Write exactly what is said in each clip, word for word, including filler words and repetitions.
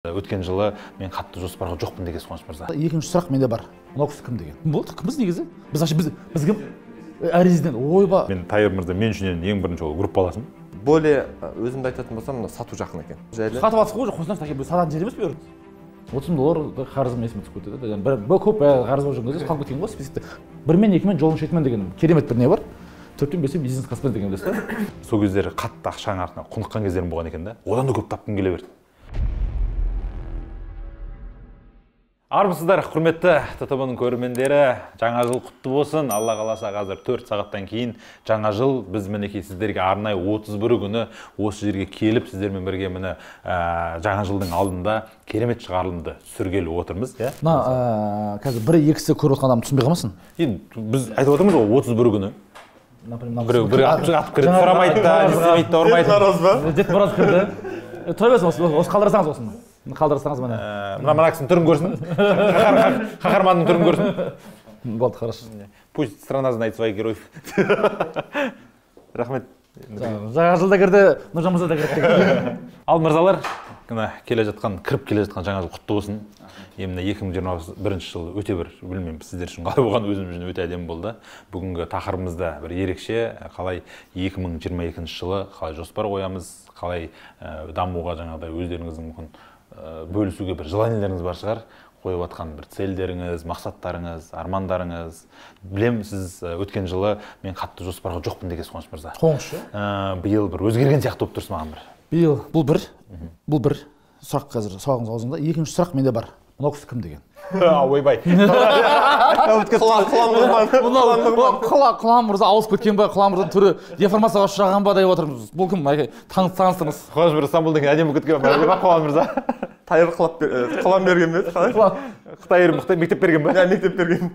Өткен жылы мен қатты жоспарға жоқпын деген Қуаныш мырза. Екінші сұрақ менде бар. Мынау кісі кім деген? Болды, кімбіз негізі? Біз вообще біз біз кім? Резидент. Ойба. Мен Тайыр мырза мен үшін ең бірінші ол группаласым. Более өзімді айтатын болсам, сату жақын екен. Сатып алсақ қой, қосынаш таки сататын жер емес пе? отыз мың доллар қарызым есіме түсіп кетті. Бір көп қарыз болып жүрген кезде қалып кеткен ғой списокте. Бірмен екімен жолын шетімен деген керемет бір не бар. Төртпен бесен бизнес класспен деген білесіз ба? Сол кездері қатты ақшаның артына құныққан кездерім болған екен да. Одан да көп тапқым келе берді. Армысыздар, құрметті ТТБ-ның көрермендері, жаңа жыл құтты болсын. Алла қаласа қазір төрт сағаттан кейін жаңа жыл. Біз мінекей сіздерге арнайы отыз бірі күні осы жерге келіп, сіздермен бірге міне жаңа жылдың алдында керемет шығарылымды түсіргелі отырмыз. Мына қазір бір екісі көріп отқан адам түсінбей қалмасын. Енді біз айтып отырмыз ғой отыз бірі күні. Біреу бір атып кіріп сұрамайды да, не істемейді да, ұрмайды. Дет бараз кірді. Тұра берсін, осы қалдырсаңыз осыны. Қалдырсаңыз міне. Мына мына кісінің түрін көрсін. Қаһарманның түрін көрсін. Болды, хорошо. Пусть страна знает своих героев. Рахмет. Жаңа жылда кірді, Нұржан мырза да кірді. Ал мырзалар, келе жатқан, кіріп келе жатқан жаңа жыл құтты болсын. Еміне екі мың жиырма бірінші жыл өте бір, білмеймін, сіздер үшін қалай болған, өзім үшін өте әдемі болды. Бүгінгі тақырыбымызда бір ерекше, қалай екі мың жиырма екінші жылы қалай жоспар қоямыз, қалай дамуға жаңағыдай өздеріңіздің мүмкін бөлісуге бір желаниелеріңіз бар шығар, қойып атқан бір целдеріңіз, мақсаттарыңыз, армандарыңыз. Білем, сіз өткен жылы мен қатты жоспарға жоқпын деген Қуаныш мырза. Қоңшы. Биыл бір өзгерген сияқты болып тұрсыз маған бір. Биыл бұл бір, бұл бір сұрақ қазір сұрағыңыз аузында. Екінші сұрақ менде бар. Мынау кісі кім деген? Ойбай. Құлан мырза ауысып кеткен ба, Құлан мырзаның түрі деформацияға ұшыраған ба деп отырмыз. Бұл кім? Таныстыңыз. Қуаныш мырза Стамбулдан әдемі кеткен ба, Құлан мырза. Тайыр құлан берген бе? Қытай мектеп берген ба? Мектеп берген.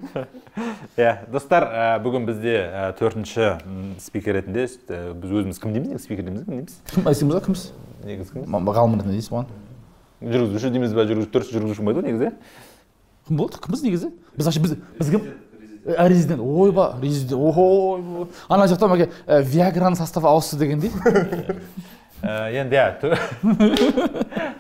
Иә, достар, бүгін бізде төртінші спикер ретінде біз өзіміз кім дейміз, спикер дейміз, кім дейміз? Кім айсымыз, кімсіз? Негіз кіміз? Ғалым ретінде дейсіз бұған? Жүргізуші дейміз ба, төртінші жүргізуші кімайды негізі? Кім болды? Кімбіз негізі? Біз вообще біз кім? Резидент. Ойба, резидент. Ой, ана жақта мәке Виаграның составы ауысты дегендей. Енді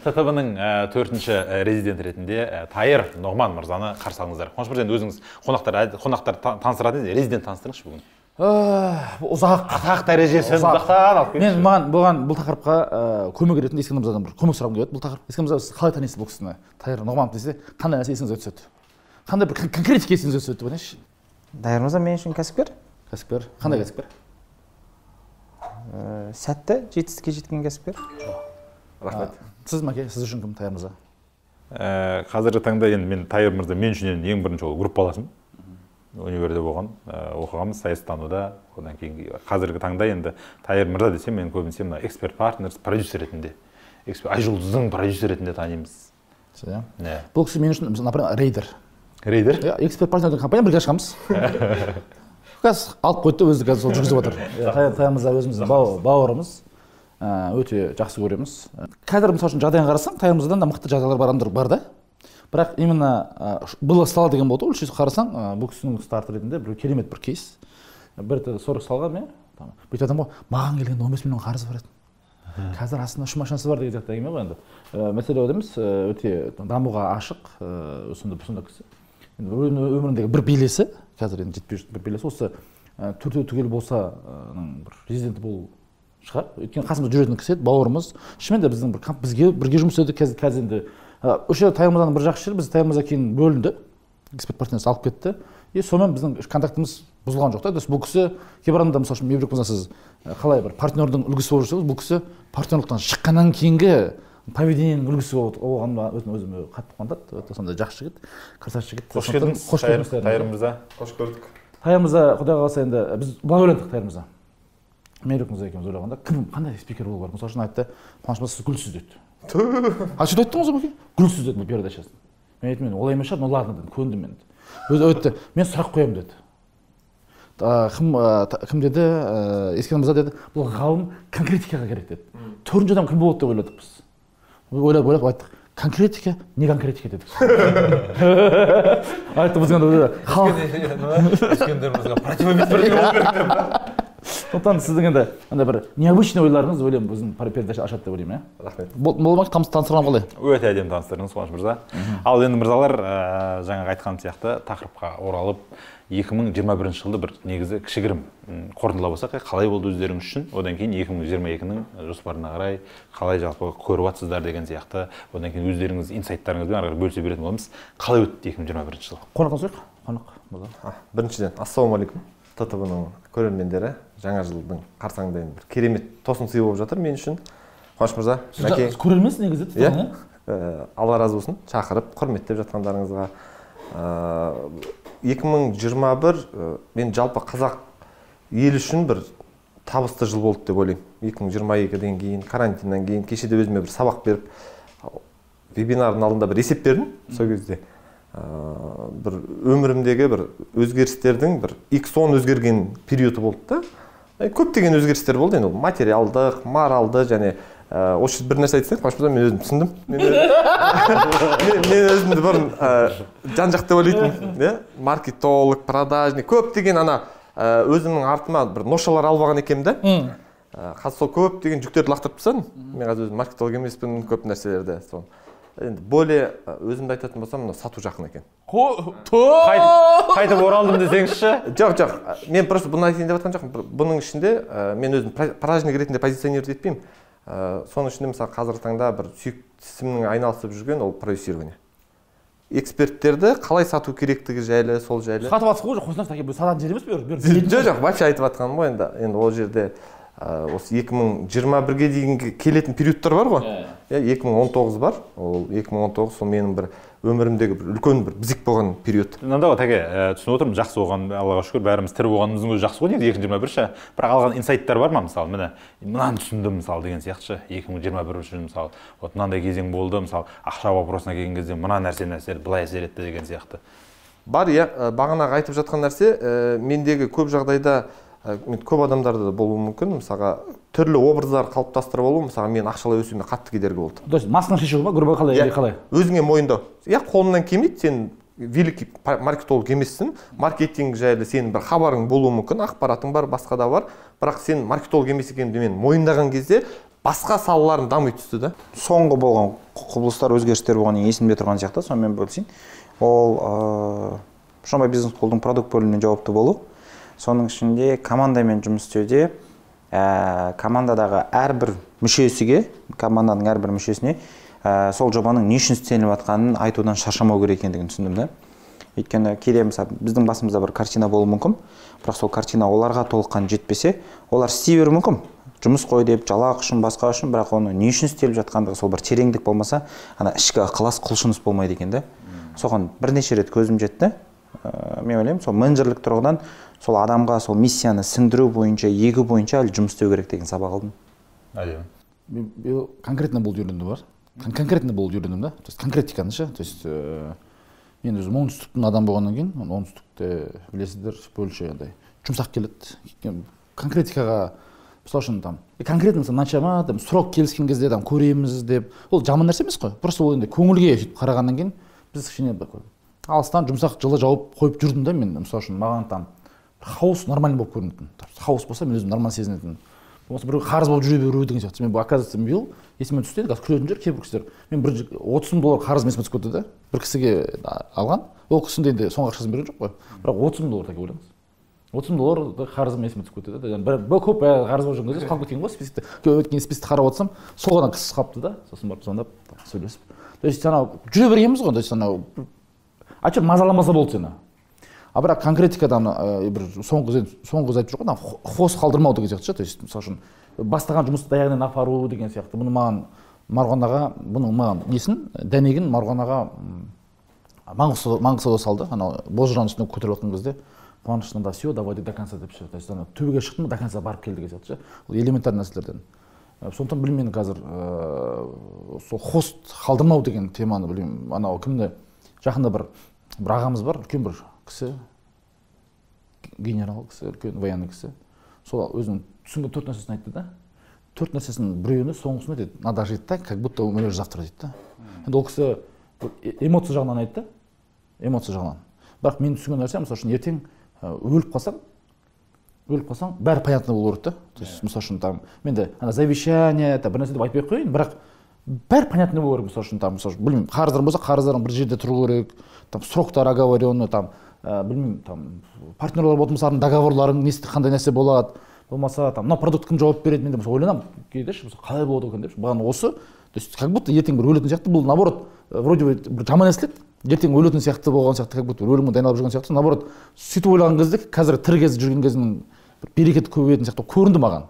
ТТБ-ның төртінші резидент ретінде Тайыр Нұғман мырзаны қарсы алыңыздар. Қуаныш мырза, енді өзіңіз қонақтар таныстыратын резидент таныстырыңызшы бүгін. Ұзақ атақ дәрежесі ұзақтан алып мен маған бұған бұл тақырыпқа көмек ретінде Ескендір мырзадан бір көмек сұрағым келеді. Бұл тақырып Ескендір мырза, сіз қалай танисыз бұл кісіні? Тайыр Нұғманов десе, қандай нәрсе есіңізге түседі? Қандай бір конкретика есіңізге түседі деп айтыңызшы? Тайыр мырза мен үшін кәсіпкер. Кәсіпкер. Қандай кәсіпкер? Сәтті жетістікке жеткен кәсіпкер. Рахмет. Сіз мәке, сіз үшін кім Тайыр мырза? Қазіргі таңда енді мен Тайыр мырза мен үшін ең бірінші ол группаласым. Универде болған, оқығанбыз саясаттануда, одан кейін қазіргі таңда енді Тайыр мырза десем, мен көбінесе мына эксперт партнерс продюсер ретінде, Айжұлдыздың продюсер ретінде танимыз. Бұл кісі мен үшін, например, рейдер. Рейдер? Эксперт партнердің компания бірге ашқанбыз. Қазір алып қойды, өзі қазір сол жүргізіп отыр. Тайыр мырза өзіміздің бауырымыз, өте жақсы көреміз. Қазір мысалы үшін жағдайын қарасаң, Тайыр мырзадан да мықты жағдайлар бар бар да. Бірақ именно было стало деген болды, өлшесі қарасаң, бұл кісінің старт ретінде бір керемет бір кейс. Бір сорок салға мен, бүйтіп адам ғой, маған келген он бес миллион қарызы бар еді. Қазір астында үш машинасы бар деген сияқты әңгіме ғой енді. Мәселе ойдамыз, өте дамуға ашық, осындай кісі. Өміріндегі бір белесі, қазір енді жетпей жүрген бір белесі, осы төртеу түгел болса бір резиденті болу шығар. Өйткені қасымызда жүретін кісі еді, бауырымыз. Шынымен де біздің бізге бірге жұмыс істедік қазір енді. Өше Тайыр мырзаның бір жақсы жері, біз Тайыр мырза кейін бөлінді, эксперт партнерс алып кетті. И сонымен біздің контактымыз бұзылған жоқ та. Бұл кісі кейбір адамдар мысалы үшін Меврик мырза, сіз қалай бір партнердің үлгісі болып жүрсеңіз, бұл кісі партнерлықтан шыққаннан кейінгі поведениенің үлгісі болғанына өзім қатты қуантады. Сондай жақсы жігіт, красавчик жігіт. Қош келдіңіз, Тайыр мырза. Қош көрдік. Тайыр мырза, құдай қаласа енді біз былай ойландық Тайыр мырза. Меврик мырза екеуміз ойлағанда, кім қандай спикер болу керек? Мысалы үшін айтты, Қуаныш мырза, сіз гүлсіз деді. А что айттыңыз ғой, гүлсіз деді бұл передачасын. Мен айттым, олай емес шығар, ну ладно дедім, көндім мен. Өзі айтты, мен сұрақ қоямын деді. Кім деді, Ескендір мырза деді, бұл ғалым конкретикаға керек деді. Төртінші адам кім болады деп ойладық біз. Ойлап ойлап айттық, конкретика, не конкретика дедік. Айтты біз ғалым. Ескендір мырзаға противомет бір сондықтан сіздің енді андай бір необычный ойларыңыз ойлаймын біздің передача ашады деп ойлаймын, иә. Рахмет. Болмай таныстырған қалай? Өте әдемі таныстырдыңыз, Қуаныш мырза. Ал енді мырзалар, жаңағы айтқан сияқты тақырыпқа оралып, екі мың жиырма бірінші жылды бір негізі кішігірім қорытындылап алсақ, қалай болды өздеріңіз үшін, одан кейін екі мың жиырма екінің жоспарына қарай қалай жалпы көріп жатсыздар деген сияқты, одан кейін өздеріңіз инсайттарыңызбен ары қарай бөлісе беретін боламыз. Қалай өтті екі мың жиырма бірінші жыл? Қонақтан сұрайық. Қонақ болса. Біріншіден, ассалаумағалейкум. тэ тэ вэ-ның көрермендері, жаңа жылдың қарсаңында енді бір керемет тосын сый болып жатыр мен үшін. Қуаныш мырза, Мәке. Көрерменсіз негізі, иә? Алла разы болсын, шақырып құрметтеп жатқандарыңызға. екі мың жиырма бір мен жалпы қазақ ел үшін бір табысты жыл болды деп ойлаймын. екі мың жиырма екіден кейін, карантиннан кейін, кешеде өзіме бір сабақ беріп, вебинардың алдында бір есеп бердім. Сол кезде бір өмірімдегі бір өзгерістердің бір икс он өзгерген периоды болды да. Көптеген өзгерістер болды енді, материалдық, моралды және осы бір нәрсе айтсам, Қуаныш мырза, мен өзім түсіндім. Мен өзімді бұрын жан-жақты деп ойлайтынмын, иә? Маркетолог, продажник, көптеген ана өзімнің артыма бір ношалар алып алған екенмін да. Қазір сол көптеген жүктерді лақтырып тастадым. Мен қазір өзім маркетолог емеспін, көп нәрселерді. Енді более өзімді айтатын болсам, сату жақын екен. Қайтып оралдым десеңізші? Жоқ, жоқ. Мен просто бұны айтайын деп жатқан жоқпын. Бұның ішінде мен өзім продажник ретінде позиционировать етпеймін. Соның ішінде мысалы қазіргі таңда бір сүйікті ісімнің айналысып жүрген ол продюсирование. Эксперттерді қалай сату керектігі жайлы, сол жайлы. Сатып жатсыз ғой, қойсаңыз таки бұл сататын жер емес пе? Жоқ, жоқ, вообще айтып жатқаным ғой енді. Енді ол жерде осы екі мың жиырма бірге дейінгі келетін периодтар бар ғой. екі мың он тоғыз бар. Ол екі мың он тоғыз сол менің бір өмірімдегі бір үлкен бір бізік болған период. Мынандай ғой, тәке, түсініп отырмын, жақсы болған, Аллаға шүкір, бәріміз тірі болғанымыздың өзі жақсы ғой, екі мың жиырма бірінші. Бірақ алған инсайттар бар ма, мысалы, міне, мынаны түсіндім, мысалы, деген сияқтышы. екі мың жиырма бірінші, мысалы, вот мынандай кезең болды, мысалы, ақша вопросына келген кезде мына нәрсе нәрсе былай әсер етті деген сияқты. Бар, иә, бағанағы айтып жатқан нәрсе, мендегі көп жағдайда мен көп адамдарда болуы мүмкін, мысалға түрлі образдар қалыптастырып алу, мысалға мен ақшалай өсуіме қатты кедергі болды. То есть масканы шешу ма, грубо қалай, қалай? Өзіңе мойындау. Иә, қолыңнан келмейді, сен великий маркетолог емессің, маркетинг жайлы сенің бір хабарың болуы мүмкін, ақпаратың бар, басқа да бар, бірақ сен маркетолог емес екенімді мен мойындаған кезде басқа салаларын дами түсті да. Соңғы болған құбылыстар, өзгерістер болған есімде тұрған сияқты, сонымен бөлісейін. Ол Шомбай бизнес қолдың продукт бөлімінен жауапты болу. Соның ішінде командамен жұмыс істеуде командадағы әрбір мүшесіге, команданың әрбір мүшесіне сол жобаның не үшін істеліп жатқанын айтудан шаршамау керек екендігін түсіндім да. Өйткені кейде мысалы біздің басымызда бір картина болуы мүмкін, бірақ сол картина оларға толыққан жетпесе, олар істей беруі мүмкін. Жұмыс қой деп, жалақы үшін, басқа үшін, бірақ оны не үшін істеліп жатқандығы сол бір тереңдік болмаса, ана ішкі ықылас, құлшыныс болмайды екен да. Соған бірнеше рет көзім жетті. Мен ойлаймын, сол менеджерлік тұрғыдан сол адамға сол миссияны сіңдіру бойынша, егу бойынша әлі жұмыс істеу керек деген сабақ алдым. Әдемі. Мен конкретно болды үйрендім бар. Конкретно болды үйрендім да. То есть конкретиканы ше. То есть мен өзім оңтүстіктің адам болғаннан кейін, оңтүстікте білесіздер, бөлше андай жұмсақ келеді. Конкретикаға мысалы үшін там конкретно начама, там срок келіскен кезде там көреміз деп, ол жаман нәрсе емес қой. Просто ол енді көңілге сөйтіп қарағаннан кейін біз кішкене алыстан жұмсақ жылы жауып қойып жүрдім да мен. Мысалы үшін маған там хаос нормальный болып көрінетін. Хаос болса мен өзім нормально сезінетін. Болмаса бір қарыз болып жүре беру деген сияқты. Мен бұл оказывается биыл есіме түсті еді, қазір күлетін жүр кейбір кісілер. Мен бір отыз мың доллар қарыз есіме түсіп кетті да. Бір кісіге алған. Ол кісінің де соңғы ақшасын берген жоқ қой. Бірақ отыз мың доллар таки ойлаңыз. отыз мың доллар қарызым есіме түсіп кетті да. Бір көп қарыз болып жүрген кезде қалып кеткен ғой списокте. Өткен списокті қарап отырсам, сол ғана кісі қалыпты да. Сосын барып звондап сөйлесіп. То есть анау жүре бергенбіз ғой. То есть анау а че мазаламаса болды сені. А бірақ конкретикадан бір соңғы соңғы айтып жүр ғой, там хвост қалдырмау деген сияқты ше. То есть мысалы үшін бастаған жұмысты аяғынан апару деген сияқты. Бұны маған Марғұлан аға, бұның маған несін, дәнегін Марғұлан аға Маңғыстауда салды. Анау Бозжыраның үстіне көтеріп жатқан кезде қуаныштың да все, давай до конца деп ше. То есть ана төбеге шықтым, до конца барып келді деген сияқты ше. Ол элементарный нәрселерден. Сондықтан білмеймін қазір сол хост қалдырмау деген теманы білмеймін. Анау кімді жақында бір бір ағамыз бар, үлкен бір кісі, генерал кісі, үлкен военный кісі. Сол өзінің түсінген төрт нәрсесін айтты да. Төрт нәрсесінің біреуіне соңғысына дейді, надо жить так, как будто умрешь завтра дейді да. Енді ол кісі эмоция жағынан айтты, эмоция жағынан. Бірақ мен түсінген нәрсе, мысалы үшін ертең өліп қалсам, өліп қалсаң бәрі понятно болу керек та. То есть мысалы үшін там менде ана завещание та бір нәрсе деп айтпай ақ қояйын, бірақ бәрі понятно болу керек. мысалы үшін там мысалы білмеймін қарыздарың болса қарыздарың бір жерде тұру керек, там сроктар оговоренный, там білмеймін там партнерлар болатын болса договорларың несі қандай нәрсе болады, болмаса там мына продукт кім жауап береді, мен де мысалы ойланамын кейде қалай болады екен деп. Маған осы то есть как будто ертең бір өлетін сияқты, бұл наоборот вроде бы бір жаман естіледі, ертең өлетін сияқты болған сияқты, как будто өлімге дайындалып жүрген сияқты. Наоборот сөйтіп ойлаған кезде қазір тірі кезде жүрген кезінің берекеті көбейетін сияқты көрінді маған.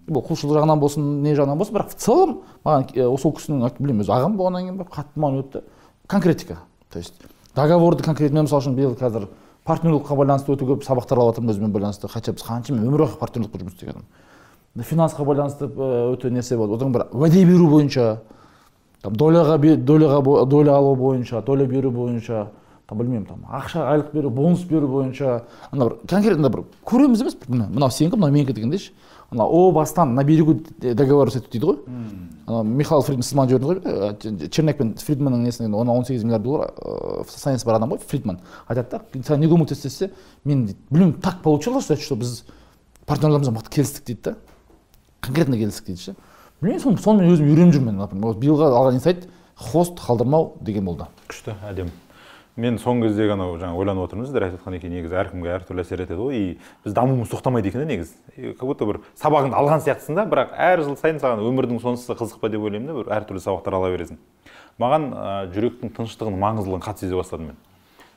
Бұл құлшылық жағынан болсын, не жағынан болсын, бірақ в целом маған осы кісінің білмеймін өзі ағам болғаннан кейін бір қатты маған өтті конкретика. То есть договорды конкрет, мен мысалы үшін биыл қазір партнерлыққа байланысты өте көп сабақтар алып жатырмын өзімен байланысты. Хотя біз қанша мен өмір бақи партнерлықпен жұмыс істегенмін. Финансқа байланысты өте нәрсе болды. Одан бір уәде беру бойынша, там доляға доляға доля алу бойынша, доля беру бойынша, там білмеймін, там ақша айлық беру, бонус беру бойынша, ана бір конкретно бір көреміз емес, мынау сенікі, мынау менікі дегендейші. Ана о бастан на берегу договор жасайды дейді ғой. Ана Михаил Фридман сіз маған көрдіңіз ғой, Черняк пен Фридманның несінен оны он сегіз миллиард доллар состояниесі бар адам ғой, Фридман. Айтады да, саған не көмектессе, мен дейді, білмеймін, так получилось, что біз партнерларымызға мықты келістік дейді да. Конкретно келістік дейді ше. Білмеймін, соны мен өзім үйреніп жүрмін. Например, биылға алған инсайт хост қалдырмау деген болды. Күшті, әдемі. Мен соңғы кезде ғана жаңа ойланып отырмыз, сіздер айтып отқан екен, негізі әркімге әртүрлі әсер етеді ғой, и біз дамуымыз тоқтамайды екен негізі. Как будто бір сабағыңды алған сияқтысың да, бірақ әр жыл сайын саған өмірдің сонысы қызық па деп ойлаймын да, бір әртүрлі сабақтар ала бересің. Маған жүректің тыныштығының маңыздылығын қатты сезе бастадым мен.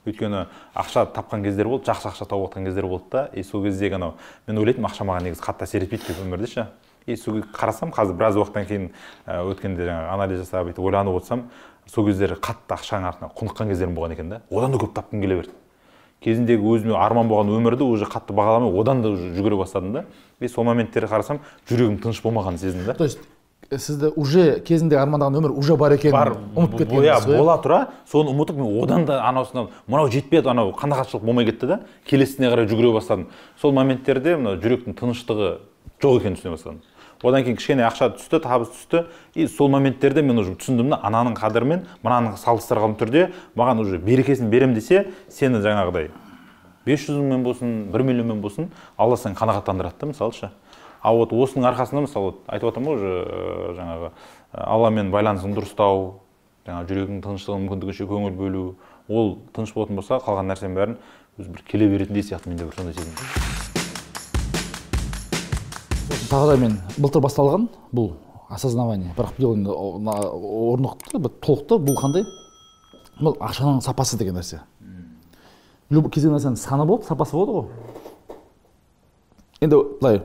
Өйткені ақша тапқан кездер болды, жақсы ақша тауып отқан кездер болды да, и сол кезде ғана мен ойлайтынмын, ақша маған негізі қатты әсер етпейді деп өмірде ше. И сол қарасам, қазір біраз уақыттан кейін өткенде жаңағы анализ жасап бүйтіп ойланып отырсам, сол кездері қатты ақшаның артына құныққан кездерім болған екен да. Одан да көп тапқым келе берді. Кезіндегі өзіме арман болған өмірді уже қатты бағаламай, одан да жүгіре бастадым да. И сол моменттерді қарасам, жүрегім тыныш болмағанын сездім да. То есть сізді уже кезінде армандаған өмір уже бар екенін ұмытып кеткенсіз ғой. Бола тұра, соны ұмытып, мен одан да анаусынан мынау жетпеді, анау қанағатшылық болмай кетті да. Келесіне қарай жүгіре бастадым. Сол моменттерде мына жүректің тыныштығы жоқ екенін түсіне бастадым. Одан кейін кішкене ақша түсті, табыс түсті, и сол моменттерде мен уже түсіндім да, ананың қадірімен мынаның салыстырған түрде маған уже берекесін берем десе, сені жаңағыдай бес жүз мыңмен болсын, бір миллионмен болсын, Алла сені қанағаттандырады да, мысалы ше. А вот осының арқасында мысалы айтып отырмын ғой, уже жаңағы Алламен байланысың дұрыстау, жаңағы жүрегің тыныштығын мүмкіндігінше көңіл бөлу, ол тыныш болатын болса, қалған нәрсенің бәрін өзі бір келе беретіндей сияқты менде бір сондай сезім. Тағы да мен былтыр басталған бұл осознавание, бірақ биыл орнықты, толықты, бұл қандай? Бұл ақшаның сапасы деген нәрсе. Любой кез келген нәрсенің саны болып, сапасы болады ғой. Енді былай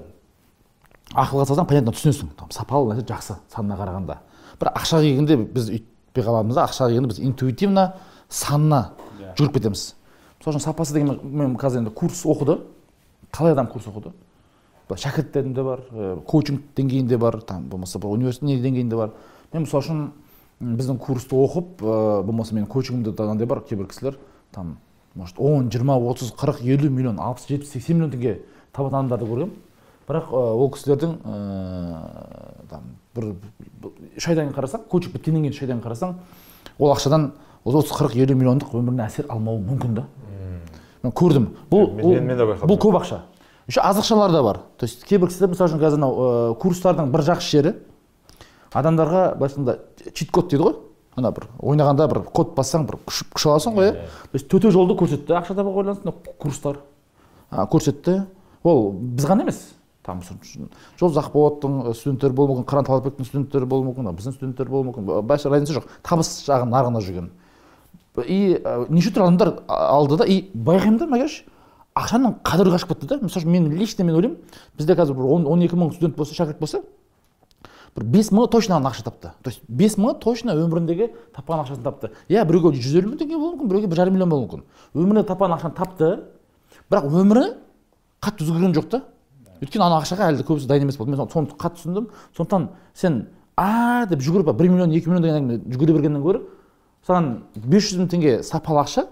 ақылға салсаң, понятно түсінесің, сапалы нәрсе жақсы санына қарағанда. Бірақ ақша келгенде біз үйтпей қаламыз да, ақша келгенде біз интуитивно санына жүріп кетеміз. Мысалы үшін сапасы деген мен қазір енді курс оқыды, талай адам курс оқыды. Шәкірттерінде бар, коучинг деңгейінде бар, там болмаса университет деңгейінде бар. Мен мысалы үшін біздің курсты оқып, болмаса менің коучингімде дағандай бар, кейбір кісілер там может он, жиырма, отыз, қырық, елу миллион, алпыс, жетпіс, сексен миллион теңге табатын адамдарды көргем. Бірақ ол кісілердің там бір үш айдан кейін қарасаң, коучинг біткеннен кейін үш айдан кейін қарасаң, ол ақшадан отыз, қырық, елу миллиондық өміріне әсер алмауы мүмкін да. Мен көрдім. Бұл бұл көп ақша. Еще азықшалар да бар. То есть кейбір кісілер мысалы үшін қазір мынау курстардың бір жақсы жері адамдарға былайша чит-код дейді ғой. Ана бір ойнағанда бір код бассаң бір күш аласың ғой. То есть төте жолды көрсетті. Ақша табуға байланысты курстар көрсетті. Ол біз ғана емес. Там Жолзақ болаттың студенттері болуы мүмкін, Қыран Талапбектің студенттері болуы мүмкін, біздің студенттер болуы мүмкін. Бәрі разница жоқ. Табыс жағын нарығына жүрген. И неше түрлі адамдар алды да, и байқаймын да, мәгеш ақшаның қадірі қашып кетті да. Мысалы мен лично мен ойлаймын, бізде қазір бір он екі мың студент болса, шәкірт болса, бір бес мыңы точно ақша тапты. То есть бес мыңы точно өміріндегі тапқан ақшасын тапты. Иә, біреуге жүз елу мың теңге болуы мүмкін, біреуге бір жарым миллион болуы мүмкін. Өмірінде тапқан ақшаны тапты, бірақ өмірі қатты өзгерген жоқ та. Өйткені ана ақшаға әлі көбісі дайын емес болды. Мен соны қатты түсіндім. Сондықтан сен а деп жүгіріп бір миллион, екі миллион деген жүгіре бергеннен гөрі саған бес жүз мың теңге сапалы ақша,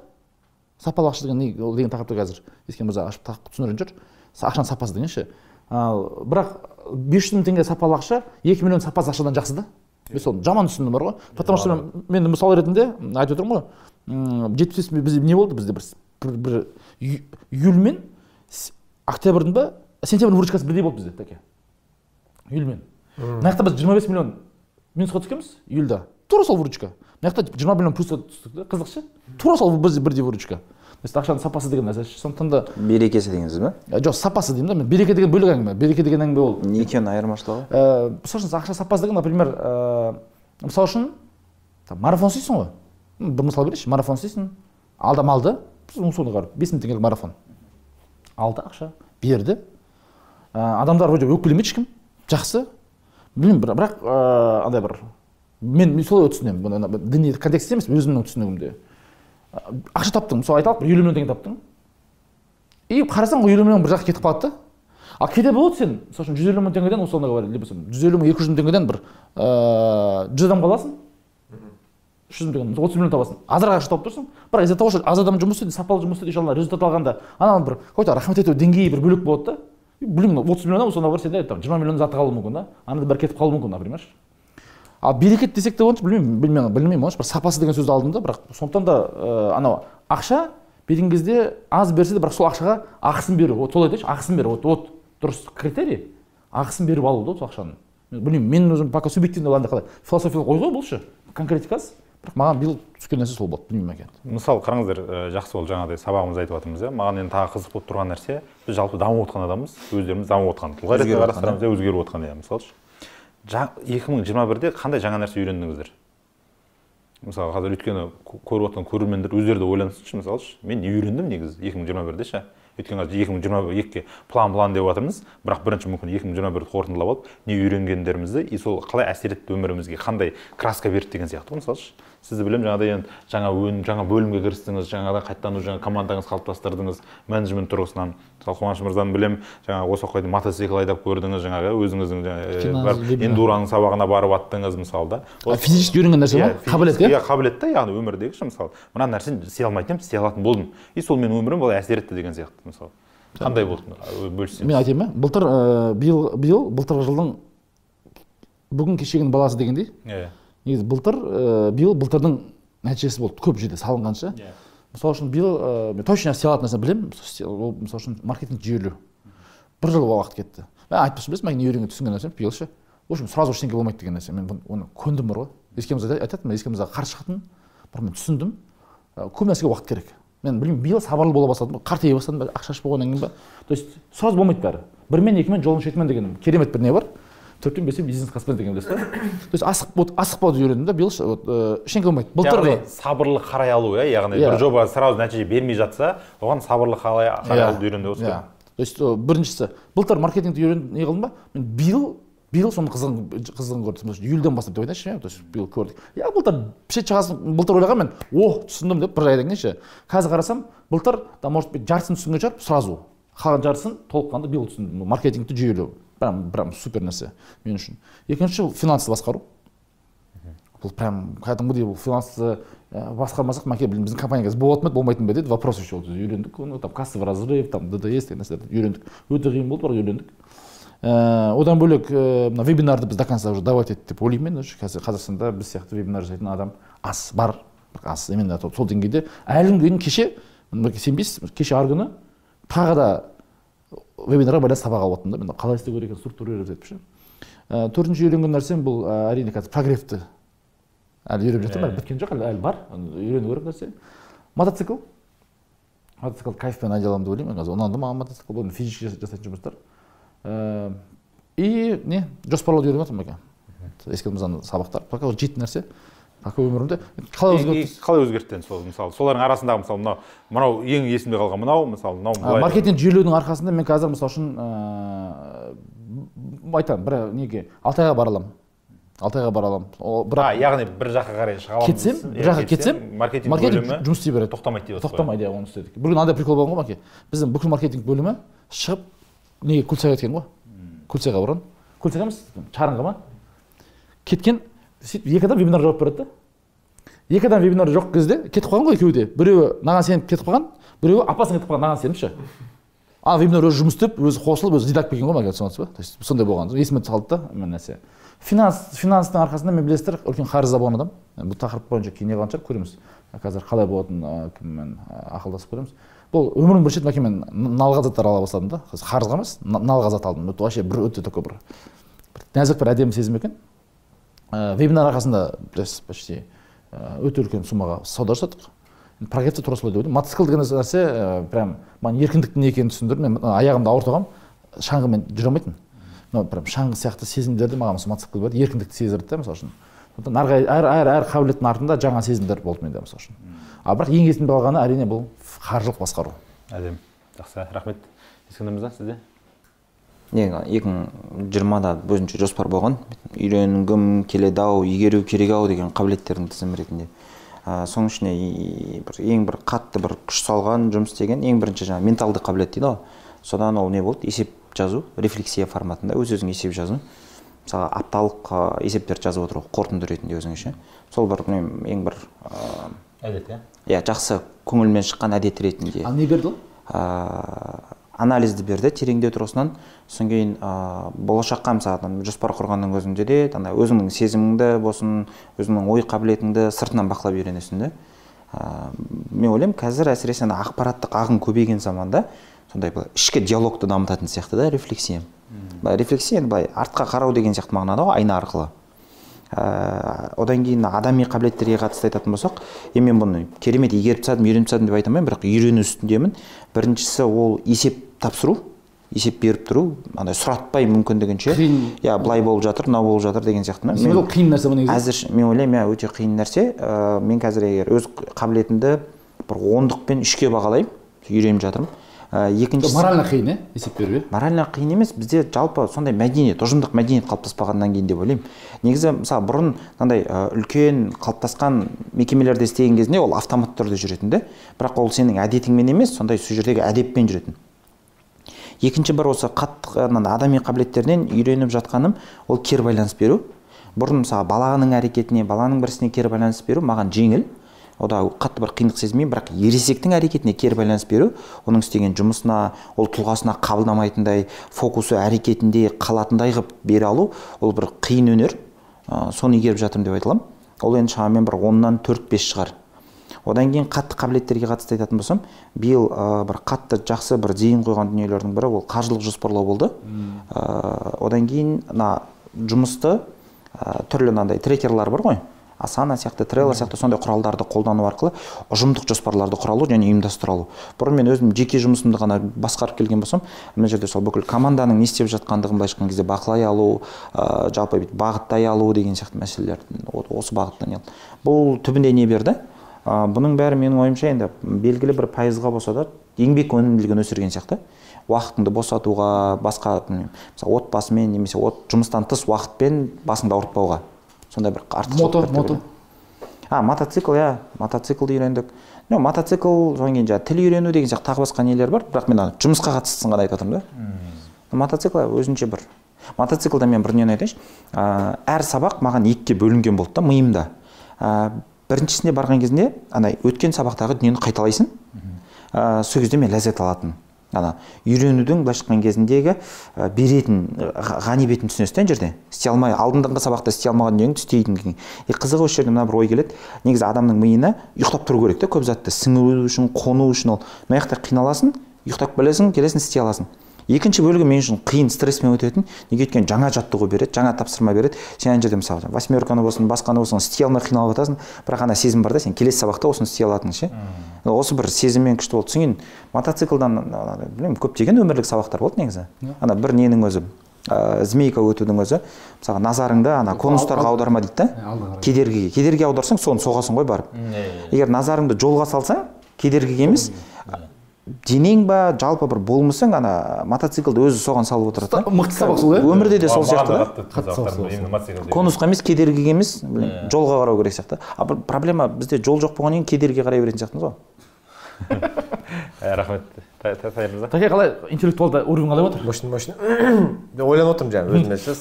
сапалы ақша деген не деген тақырыпты қазір Ескен мырза ашып түсіндірген жүр. Ақшаның сапасы деген ше. Ал бірақ бес жүз мың теңге сапалы ақша екі миллион сапасыз ақшадан жақсы да. Мен соны жаман түсіндім бар ғой. Потому что мен мысал ретінде айтып отырмын ғой. жетпіс бес бізде не болды? Бізде бір бір июль мен октябрьдің ба сентябрь выручкасы бірдей болды бізде таке июльмен. Мына жақта біз жиырма бес миллион минусқа түскенбіз июльда, тура сол выручка. Мына жақта жиырма миллион плюсқа түстік да, қызық ше, тура сол бізде бірдей выручка. То есть ақшаның сапасы деген нәрсе. Сондықтан да берекесі дегенсіз бе? Жоқ, сапасы деймін да мен. Береке деген бөлек әңгіме. Береке деген әңгіме ол. Не екен айырмашылығы? Мысалы үшін ақша сапасы деген, например, мысалы үшін марафон істейсің ғой. Бір мысал берейінші, марафон істейсің, алдам алды, соны қарап, бес мың теңгелік марафон. Алды ақша, берді. Адамдар вроде өкпелемейді ешкім, жақсы. Білмеймін, бірақ андай бір мен солай түсінемін. Діни контекстте емес, өзімнің түсінігімде. Ақша таптың, мысалы айталық, бір елу миллион теңге таптың. И қарасаң, елу миллион бір жаққа кетіп қалады да. А кейде болады сен, мысалы үшін жүз елу мың теңгеден, осылай говорили, либо жүз елу мың, екі жүз мың теңгеден бір жүз адам қаласың. үш жүз мың теңгеден отыз миллион табасың. Азырақ ақша тауып тұрсың. Бірақ из-за того, что аз адам жұмыс істейді, сапалы жұмыс істейді, иншалла результат алғанда, ана бір какой-то рахмет ету деңгейі бір бөлек болады да. Білмеймін, отыз миллионнан осында бар сенде жиырма миллион заты қалуы мүмкін да. Ана да бір кетіп қалуы мүмкін, например. А берекет десек те онша білмеймін, білмеймін, білмеймін, онша бір сапасы деген сөзді алдым да, бірақ сондықтан да анау ақша берген кезде аз берсе де, бірақ сол ақшаға ақысын беру, вот солай айтайыншы, ақысын беру, вот вот дұрыс критерий, ақысын беріп алу да сол ақшаның. Білмеймін, мен өзім пока субъективный оланда қалай, философиялық ой ғой бұл ше, конкретикасы, бірақ маған биыл түскен нәрсе сол болды, білмеймін екен. Мысалы қараңыздар, жақсы болды, жаңағыдай сабағымызды айтып жатырмыз иә. Маған енді тағы қызық болып тұрған нәрсе, біз жалпы дамып отқан адамбыз, өздеріміз дамып отқан, тұлға ретінде қарастырамыз иә, өзгеріп отқан иә, мысалы екі мың жиырма бірде қандай жаңа нәрсе үйрендіңіздер? Мысалы қазір өйткені көріп отқан көрермендер өздері де ойлансыншы, мысалы мен не үйрендім негізі екі мың жиырма бірде ше? Өйткені қазір екі мың жиырма екіге план план деп жатырмыз, бірақ бірінші мүмкін екі мың жиырма бірді қорытындылап алып, не үйренгендерімізді и сол қалай әсер етті өмірімізге, қандай краска берді деген сияқты ғой, мысалы сізді білемін, жаңағыдай енді жаңа өнім, жаңа бөлімге кірістіңіз, жаңадан қайтадан жаңа командаңыз қалыптастырдыңыз, менеджмент тұрғысынан. Мысалы Қуаныш мырзаны білемін, жаңа осы уақытқа дейін мотоцикл айдап көрдіңіз, жаңағы өзіңіздің жаңағы эндуроның сабағына барып аттыңыз, мысалы да. Физически үйренген нәрсе ма? Қабілет иә? Иә, қабілет та, яғни өмірдегі ше, мысалы, мына нәрсені істей алмайтын едім, істей алатын болдым. И сол менің өмірім былай әсер етті деген сияқты, мысалы. Қандай болды? Бөліссеңіз. Мен айтайын ба? Былтыр биыл биыл былтырғы жылдың бүгін кешегінің баласы дегендей. Иә. Негізі былтыр биыл былтырдың нәтижесі болды, көп жерде салынғанша. Мысалы үшін биыл мен точно істей алатын нәрсені білемін. Ол мысалы үшін маркетинг жүйелеу. Бір жыл уақыт кетті. Мен айтпақшы білесің, мен не үйренген түсінген нәрсем биыл ше. В общем, сразу ештеңе болмайды деген нәрсе. Мен оны көндім бар ғой. Ескеміз айтатын, ескемізге қарсы шықтым. Бірақ мен түсіндім. Көп нәрсеге уақыт керек. Мен білмеймін, биыл сабырлы бола бастадым, қартая бастадым, ақша ашып болғаннан кейін ба. То есть сразу болмайды бәрі. Бірмен, екімен, жолын шетімен деген керемет бір не бар. Төрттен бестен бизнес қаспен деген білесіз ба? То есть асықпауды асықпауды үйрендім да, биыл ештеңе болмайды. Яғни сабырлы қарай алу иә, яғни бір жоба сразу нәтиже бермей жатса, оған сабырлы қарай алуды үйренді осы. То есть біріншісі, былтыр маркетингті үйреніп не қылдым ба? Мен биыл биыл соны қызығын қызығын көрдім. Июльден бастап деп айтайыншы, то есть биыл көрдік. Я былтыр пішет шығасын, былтыр ойлағам мен, о, түсіндім деп бір айдан кейін. Қазір қарасам, былтыр да может быть жартысын түсінген шығар, сразу. Қалған жартысын толыққанды биыл түсіндім. Маркетингті жүйелеу. Прям прям супер нәрсе мен үшін. Екінші финансты басқару. Бұл прям кәдімгідей бұл финансты басқармасақ, мәке біздің компанияға болатын ба, болмайтын ба деді, вопрос еще болды. Үйрендік, там кассовый разрыв, там ди ди эс деген нәрселерді үйрендік. Өте қиын болды, бірақ үйрендік. Одан бөлек мына вебинарды біз до конца уже давать етті деп ойлаймын мен. Қазір Қазақстанда біз сияқты вебинар жасайтын адам аз бар, аз именно сол деңгейде. Әлі күнге кеше, сенбейсіз, кеше арғы күні тағы да вебинарға байланысты сабақ алып отырмын да. Мен қалай істеу керек екенін структурировать етіп ше. Төртінші үйренген нәрсем бұл әрине қазір прогревті әлі үйреніп жатырмын, әлі біткен жоқ, әлі бар, үйрену керек нәрсе. Мотоцикл. Мотоцикл кайфпен айдаламын деп ойлаймын. Қазір ұнады маған мотоцикл, бұл физически жасайтын жұмыстар. И не жоспарлауды үйреніп жатырмын екен. Ескімізден сабақтар. Пока ол жеті нәрсе. Пока өмірімде қалай өзгертті? Қалай өзгертті сол мысалы, солардың арасындағы мысалы мынау мынау ең есімде қалған мынау, мысалы мынау былай. Маркетинг жүйелеудің арқасында мен қазір мысалы үшін айтамын, бір неге Алтайға бара аламын. Алтайға бара аламын. Бірақ яғни бір жаққа қарай шыға аламын. Кетсем, бір жаққа кетсем, маркетинг бөлімі жұмыс істей береді. Тоқтамайды деп отырсыз. Тоқтамайды, оны істедік. Бір күні андай прикол болған ғой, мәке. Біздің бүкіл маркетинг бөлімі шығып неге Кульцайға кеткен ғой. Кульцайға бұрын. Кульцайға емес, Чарынға ма? Кеткен, екі адам вебинар жауап береді да. Екі адам вебинар жоқ кезде кетіп қалған ғой екеуі де. Біреуі маған сеніп кетіп қалған, біреуі апасына кетіп қалған, маған сеніп ше. А вебинар өзі жұмыс істеп, өзі қосылып, өзі дидактик берген ғой, мәке түсінесіз ба? То есть сондай болған. Есіме қалды да мен нәрсе. Финанс, финанстың арқасында мен білесіздер, үлкен қарызда болған адам. Бұл тақырып бойынша кейін не қылған шығар, көреміз. Қазір қалай болатынын кіммен ақылдасып көреміз. бұл өмірім бір шет мәке мен налға заттар ала бастадым да. Қарызға емес, налға зат алдым. Өте вообще бір өте такой бір нәзік бір әдемі сезім екен. Вебинар арқасында біз почти өте үлкен суммаға сауда жасадық. Прогресс тура солай деп ойлаймын. Мотоцикл деген нәрсе прям маған еркіндіктің не екенін түсіндірді. Мен аяғымды ауыртып алғам, шаңғымен жүре алмайтын. Но прям шаңғы сияқты сезімдерді маған мотоцикл берді, еркіндікті сездірді да, мысалы үшін. Сондықтан әр әр әр қабілеттің артында жаңа сезімдер болды менде, мысалы үшін. А бірақ ең есімде қалғаны әрине бұл қаржылық басқару. Әдемі. Жақсы, рахмет. Ескендір мырза, сізде? екі мың жиырмада өзінше жоспар болған. Үйренгім келеді ау, игеру керек ау деген қабілеттердің тізімі ретінде. Соның ішіне бір ең бір қатты бір күш салған жұмыс деген ең бірінші жаңа менталдық қабілет дейді ғой. Содан ол не болды? Есеп жазу, рефлексия форматында өз-өзің есеп жазу. Мысалы апталық есептерді жазып отыру, қорытынды ретінде өзіңше. Сол бір ең бір әдет, иә? Иә, жақсы көңілмен шыққан әдет ретінде. Ал не берді ол? Анализді берді, тереңдеу тұрғысынан. Содан кейін болашаққа мысалы жоспар құрғанның өзінде де өзіңнің сезіміңді болсын, өзіңнің ой қабілетіңді сыртынан бақылап үйренесің де. Мен ойлаймын, қазір әсіресе ақпараттық ағын көбейген заманда сондай ішкі диалогты дамытатын сияқты да рефлексия. Рефлексия енді былай артқа қарау деген сияқты мағынада ғой, айна арқылы. Одан кейін адами қабілеттерге қатысты айтатын болсақ, мен бұны керемет игеріп тастадым, үйреніп тастадым деп айтамын, бірақ үйрену үстіндемін. Біріншісі ол есеп тапсыру, есеп беріп тұру, андай сұратпай мүмкіндігінше, иә, былай болып жатыр, мынау болып жатыр деген сияқты. Мен ол қиын нәрсе бұл негізі. Әзір мен ойлаймын, иә, өте қиын нәрсе. Мен қазір егер өз қабілетімді бір ондықпен үшке бағалаймын, үйреніп жатырмын. Екіншісі морально қиын, е, есеп беру. Морально қиын емес, бізде жалпы сондай мәдениет, ұжымдық мәдениет қалыптаспағаннан кейін деп ойлаймын. Негізі мысалы бұрын мынандай үлкен қалыптасқан мекемелерде істеген кезінде ол автомат түрде жүретін де, бірақ ол сенің әдетіңмен емес, сондай сол жердегі әдеппен жүретін. Екінші бір осы қатты адами қабілеттерінен үйреніп жатқаным ол кері байланыс беру. Бұрын мысалы баланың әрекетіне, баланың бір ісіне кері байланыс беру маған жеңіл. Ода қатты бір қиындық сезмеймін, бірақ ересектің әрекетіне кері байланыс беру, оның істеген жұмысына, ол тұлғасына қабылдамайтындай, фокусы әрекетінде қалатындай қылып бере алу, ол бір қиын өнер. Соны игеріп жатырмын деп айта аламын. Ол енді шамамен бір оннан төрт бес шығар. Одан кейін қатты қабілеттерге қатысты айтатын болсам, биыл бір қатты жақсы бір зейін қойған дүниелердің бірі ол қаржылық жоспарлау болды. Одан кейін жұмысты түрлі мынандай трекерлар бар ғой. Асана сияқты, Trello сияқты сондай құралдарды қолдану арқылы ұжымдық жоспарларды құралу және ұйымдастыралу. Бұрын мен өзім жеке жұмысымды ғана басқарып келген болсам, мына жерде сол бүкіл команданың не істеп жатқандығын былайша айтқан кезде бақылай алу, жалпы бағыттай алу деген сияқты мәселелер осы бағыттан алды. Бұл түбінде не берді? Бұның бәрі менің ойымша енді белгілі бір пайызға болса да еңбек өнімділігін өсірген сияқты. Уақытыңды босатуға, басқа мысалы отбасымен немесе от жұмыстан тыс уақытпен басыңды ауыртпауға. Сондай бір артықшылық. Мото, мото. А, мотоцикл, иә, мотоциклді үйрендік. Ну, мотоцикл, содан кейін жаңа тіл үйрену деген сияқты тағы басқа нелер бар, бірақ мен жұмысқа қатыстысын ғана айтып отырмын да. Мотоцикл өзінше бір. Мотоциклда мен бір нені айтайыншы. Әр сабақ маған екіге бөлінген болды да, миымда. Біріншісіне барған кезінде, ана өткен сабақтағы дүниені қайталайсың. Сол кезде мен ләззат алатын. Ана үйренудің былайша айтқан кезіндегі беретін ғанибетін түсінесіз де жерде. Істей алмай алдыңғы сабақта істей алмаған дүниеңді істейтін кейін. И қызығы осы жерде мына бір ой келеді. Негізі адамның миына ұйықтап тұру керек те, көп затты сіңіру үшін, қону үшін ол. Мына жақта қиналасың, ұйықтап келесің, келесің істей аласың. Екінші бөлігі мен үшін қиын стресспен өтетін. Неге өйткені жаңа жаттығу береді, жаңа тапсырма береді. Сен ана жерде мысалы восьмерканы болсын, басқаны болсын істей алмай қиналып жатасың, бірақ ана сезім бар да, сен келесі сабақта осыны істей алатың ше. Осы бір сезіммен күшті болды. Содан мотоциклдан білмеймін, көптеген өмірлік сабақтар болды негізі. Ана бір ненің өзі, змейка өтудің өзі, мысалы назарыңды ана конустарға аударма дейді да. Кедергіге, кедергіге аударсаң, соны соғасың ғой барып. Егер назарыңды жолға салсаң, кедергіге емес, денең ба, жалпы бір болмысың, ана мотоциклді өзі соған салып отырады. Мықты сабақ сол, иә? Өмірде де сол сияқты. Конусқа емес, кедергіге емес, жолға қарау керек сияқты. А проблема бізде жол жоқ болғаннан кейін кедергіге қарай беретін сияқтымыз ғой. Рахмет. Тайырмыза. Тәке қалай интеллектуалды уровень қалай отыр? Машина, машина. Мен ойланып отырмын жаңа өзіме ше.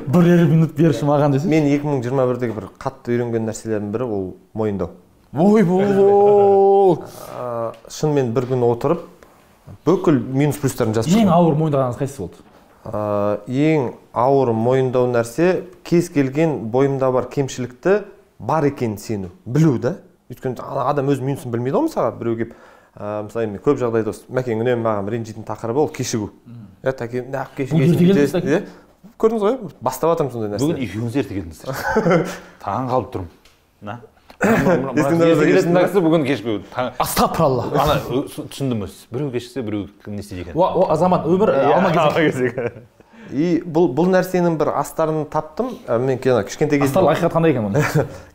Бір жарым минут берші маған десең. Мен екі мың жиырма бірдегі бір қатты үйренген нәрселердің бірі ол мойындау. Ойбой. Шынымен бір күн отырып бүкіл минус плюстарын жазып шықтым. Ең ауыр мойындағаныңыз қайсысы болды? Ең ауыр мойындау нәрсе кез келген бойымда бар кемшілікті бар екенін сену, білу да. Өйткені адам өз минусын білмейді ғой, мысалы біреу келіп мысалы мен көп жағдайда осы Мәкең үнемі маған ренжитін тақырыбы ол кешігу. Иә, Тәке, неғып кешігесің? Көрдіңіз ғой, бастап жатырмын сондай нәрсе. Бүгін екеуіңіз ерте келдіңіздер. Таң қалып тұрмын. На. Бүгін кешкі астапыралла. Ана түсіндім өз. Біреу кешіксе, біреу не істейді екен. О, азамат өмір алма кезек. И бұл бұл нәрсенің бір астарын таптым. Мен кішкентай кезімде астар лайыққа қандай екен мұны?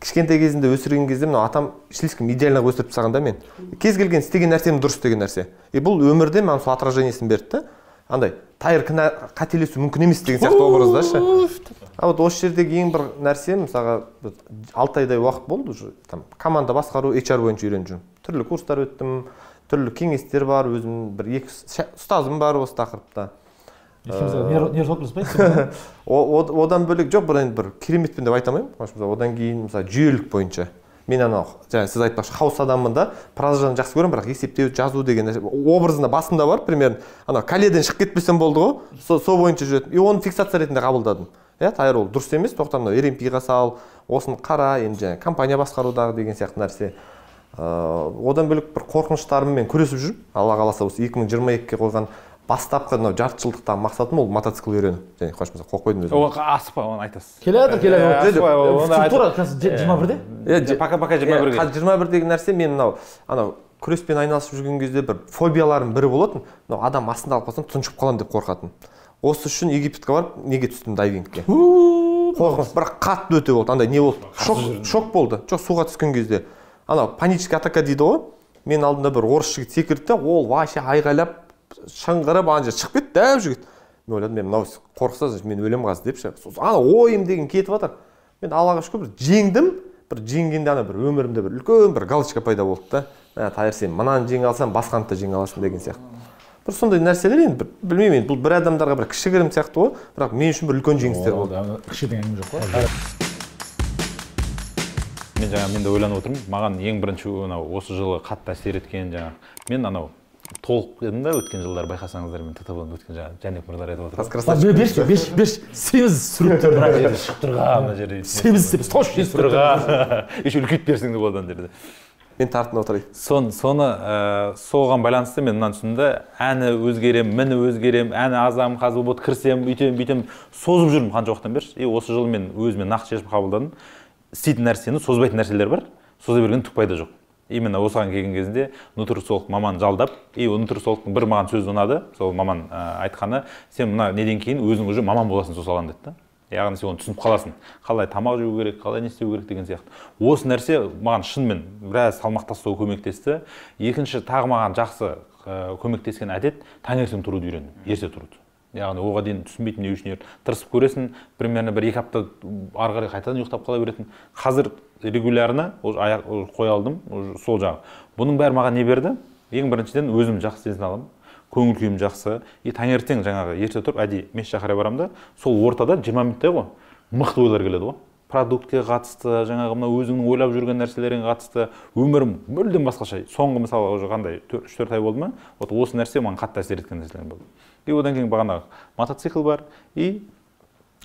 Кішкентай кезімде өсірген кезде мына атам слишком идеально өсіріп тастаған да мен. Кез келген істеген нәрсем дұрыс деген нәрсе. И бұл өмірде маған сол отражениесін берді да. Андай тайыр қателесу мүмкін емес деген сияқты образда ше. А вот осы жердегі ең бір нәрсе мысалға алты айдай уақыт болды уже там команда басқару, эйч ар бойынша үйреніп жүрмін. Түрлі курстар өттім, түрлі кеңестер бар, өзім бір екі ұстазым бар осы тақырыпта. Одан бөлек жоқ, бір бір кереметпен деп айта алмаймын. Одан кейін мысалы жүйелік бойынша мен анау жаңа сіз айтпақшы хаос адаммын да, прозаны жақсы көремін, бірақ есептеу, жазу деген нәрсе образында басында бар, примерно анау каледен шығып кетпесем болды ғой, сол бойынша жүретін. И оны фиксация ретінде қабылдадым. Иә, тайыр ол дұрыс емес, тоқта мынау эр эм пи-ға сал, осыны қара, енді жаңа компания басқарудағы деген сияқты нәрсе. Одан бөлек бір қорқыныштарыммен күресіп жүрмін. Алла қаласа осы екі мың жиырма екіге қойған бастапқы мынау жарты жылдықтағы мақсатым ол мотоцикл үйрену. Және қойшы мысалы қойып қойдым өзім. Ол асып оны айтасыз. Келеді, келеді. Тура қазір жиырма бірде? Иә, пока-пока жиырма бірге. Қазір жиырма бір деген нәрсе мен мынау анау күреспен айналысып жүрген кезде бір фобияларым бірі болатын. Мынау адам астында алып қалсам тұншығып қаламын деп қорқатын. Осы үшін Египетке барып неге түстім дайвингке. Қорқыныш, бірақ қатты өте болды. Андай не болды? Шок, шок болды. Жоқ, суға түскен кезде. Анау панический атака дейді ғой. Мен алдында бір орыс жігіт секірді де, ол вообще айғайлап шыңғырып ана жерге шығып кетті, дәу жігіт. Мен ойладым, мен мынау қорықса мен өлем қазір деп ше. Ана ойым деген кетіп жатыр. Мен Аллаға шүкір бір жеңдім. Бір жеңгенде ана бір өмірімде бір үлкен бір галочка пайда болды да. Мә тайыр сен мынаны жеңе алсаң басқаны да жеңе аласың деген сияқты. Бір сондай нәрселер енді білмеймін, бұл бір адамдарға бір кішігірім сияқты ғой, бірақ мен үшін бір үлкен жеңістер болды. Кішігірім әңгіме жоқ қой. Мен жаңа мен де ойланып отырмын. Маған ең бірінші анау осы жылы қатты әсер еткен жаңа мен анау толық едім да өткен жылдар байқасаңыздар мен ТТБ-дан өткен жаңа Жәнек мырзалар айтып отыр. Берші, берші, берші. Семіз сүріп тұр. Мына жерде шығып тұрған, мына жерде семіз семіз тош сүріп тұрған. Еще үлкейт берсең де болады ана жерде. Мен тартынып отырайын. Сон соны соған байланысты мен мынаны түсіндім да, әні өзгерем, міні өзгерем, әні азам, қазір вот кірсем, үйтем, бүйтем, созып жүрмін қанша уақыттан бері. И осы жылы мен өзіме нақты шешім қабылдадым. Істейтін нәрсені созбайтын нәрселер бар. Соза берген түк пайда жоқ. Именно осыған келген кезінде нутрициолог маман жалдап, и нутрициологтың бір маған сөзі ұнады. Сол маман айтқаны, сен мына неден кейін өзің уже маман боласың сол саладан деді да. Яғни сен оны түсініп қаласың. Қалай тамақ жеу керек, қалай не істеу керек деген сияқты. Осы нәрсе маған шынымен біраз салмақ тастауға көмектесті. Екінші тағы маған жақсы көмектескен әдет таңертең тұруды үйрендім, ерте тұруды. Яғни оған дейін түсінбейтін не үшін тырысып көресің, примерно бір екі апта ары қарай қайтадан ұйықтап қала беретін. Қазір регулярно аяқ қоя алдым, сол жағы. Бұның бәрі маған не берді? Ең біріншіден өзім жақсы сезіне аламын. Көңіл күйім жақсы. И таңертең жаңағы ерте тұрып, әдейі мешітке қарай барамын да, сол ортада жиырма минуттай ғой, мықты ойлар келеді ғой. Продуктке қатысты, жаңағы мына өзіңнің ойлап жүрген нәрселеріңе қатысты, өмірім мүлдем басқаша. Соңғы мысалы уже қандай үш төрт ай болды ма? Вот осы нәрсе маған қатты әсер еткен нәрселер болды. И одан кейін бағанағы мотоцикл бар, и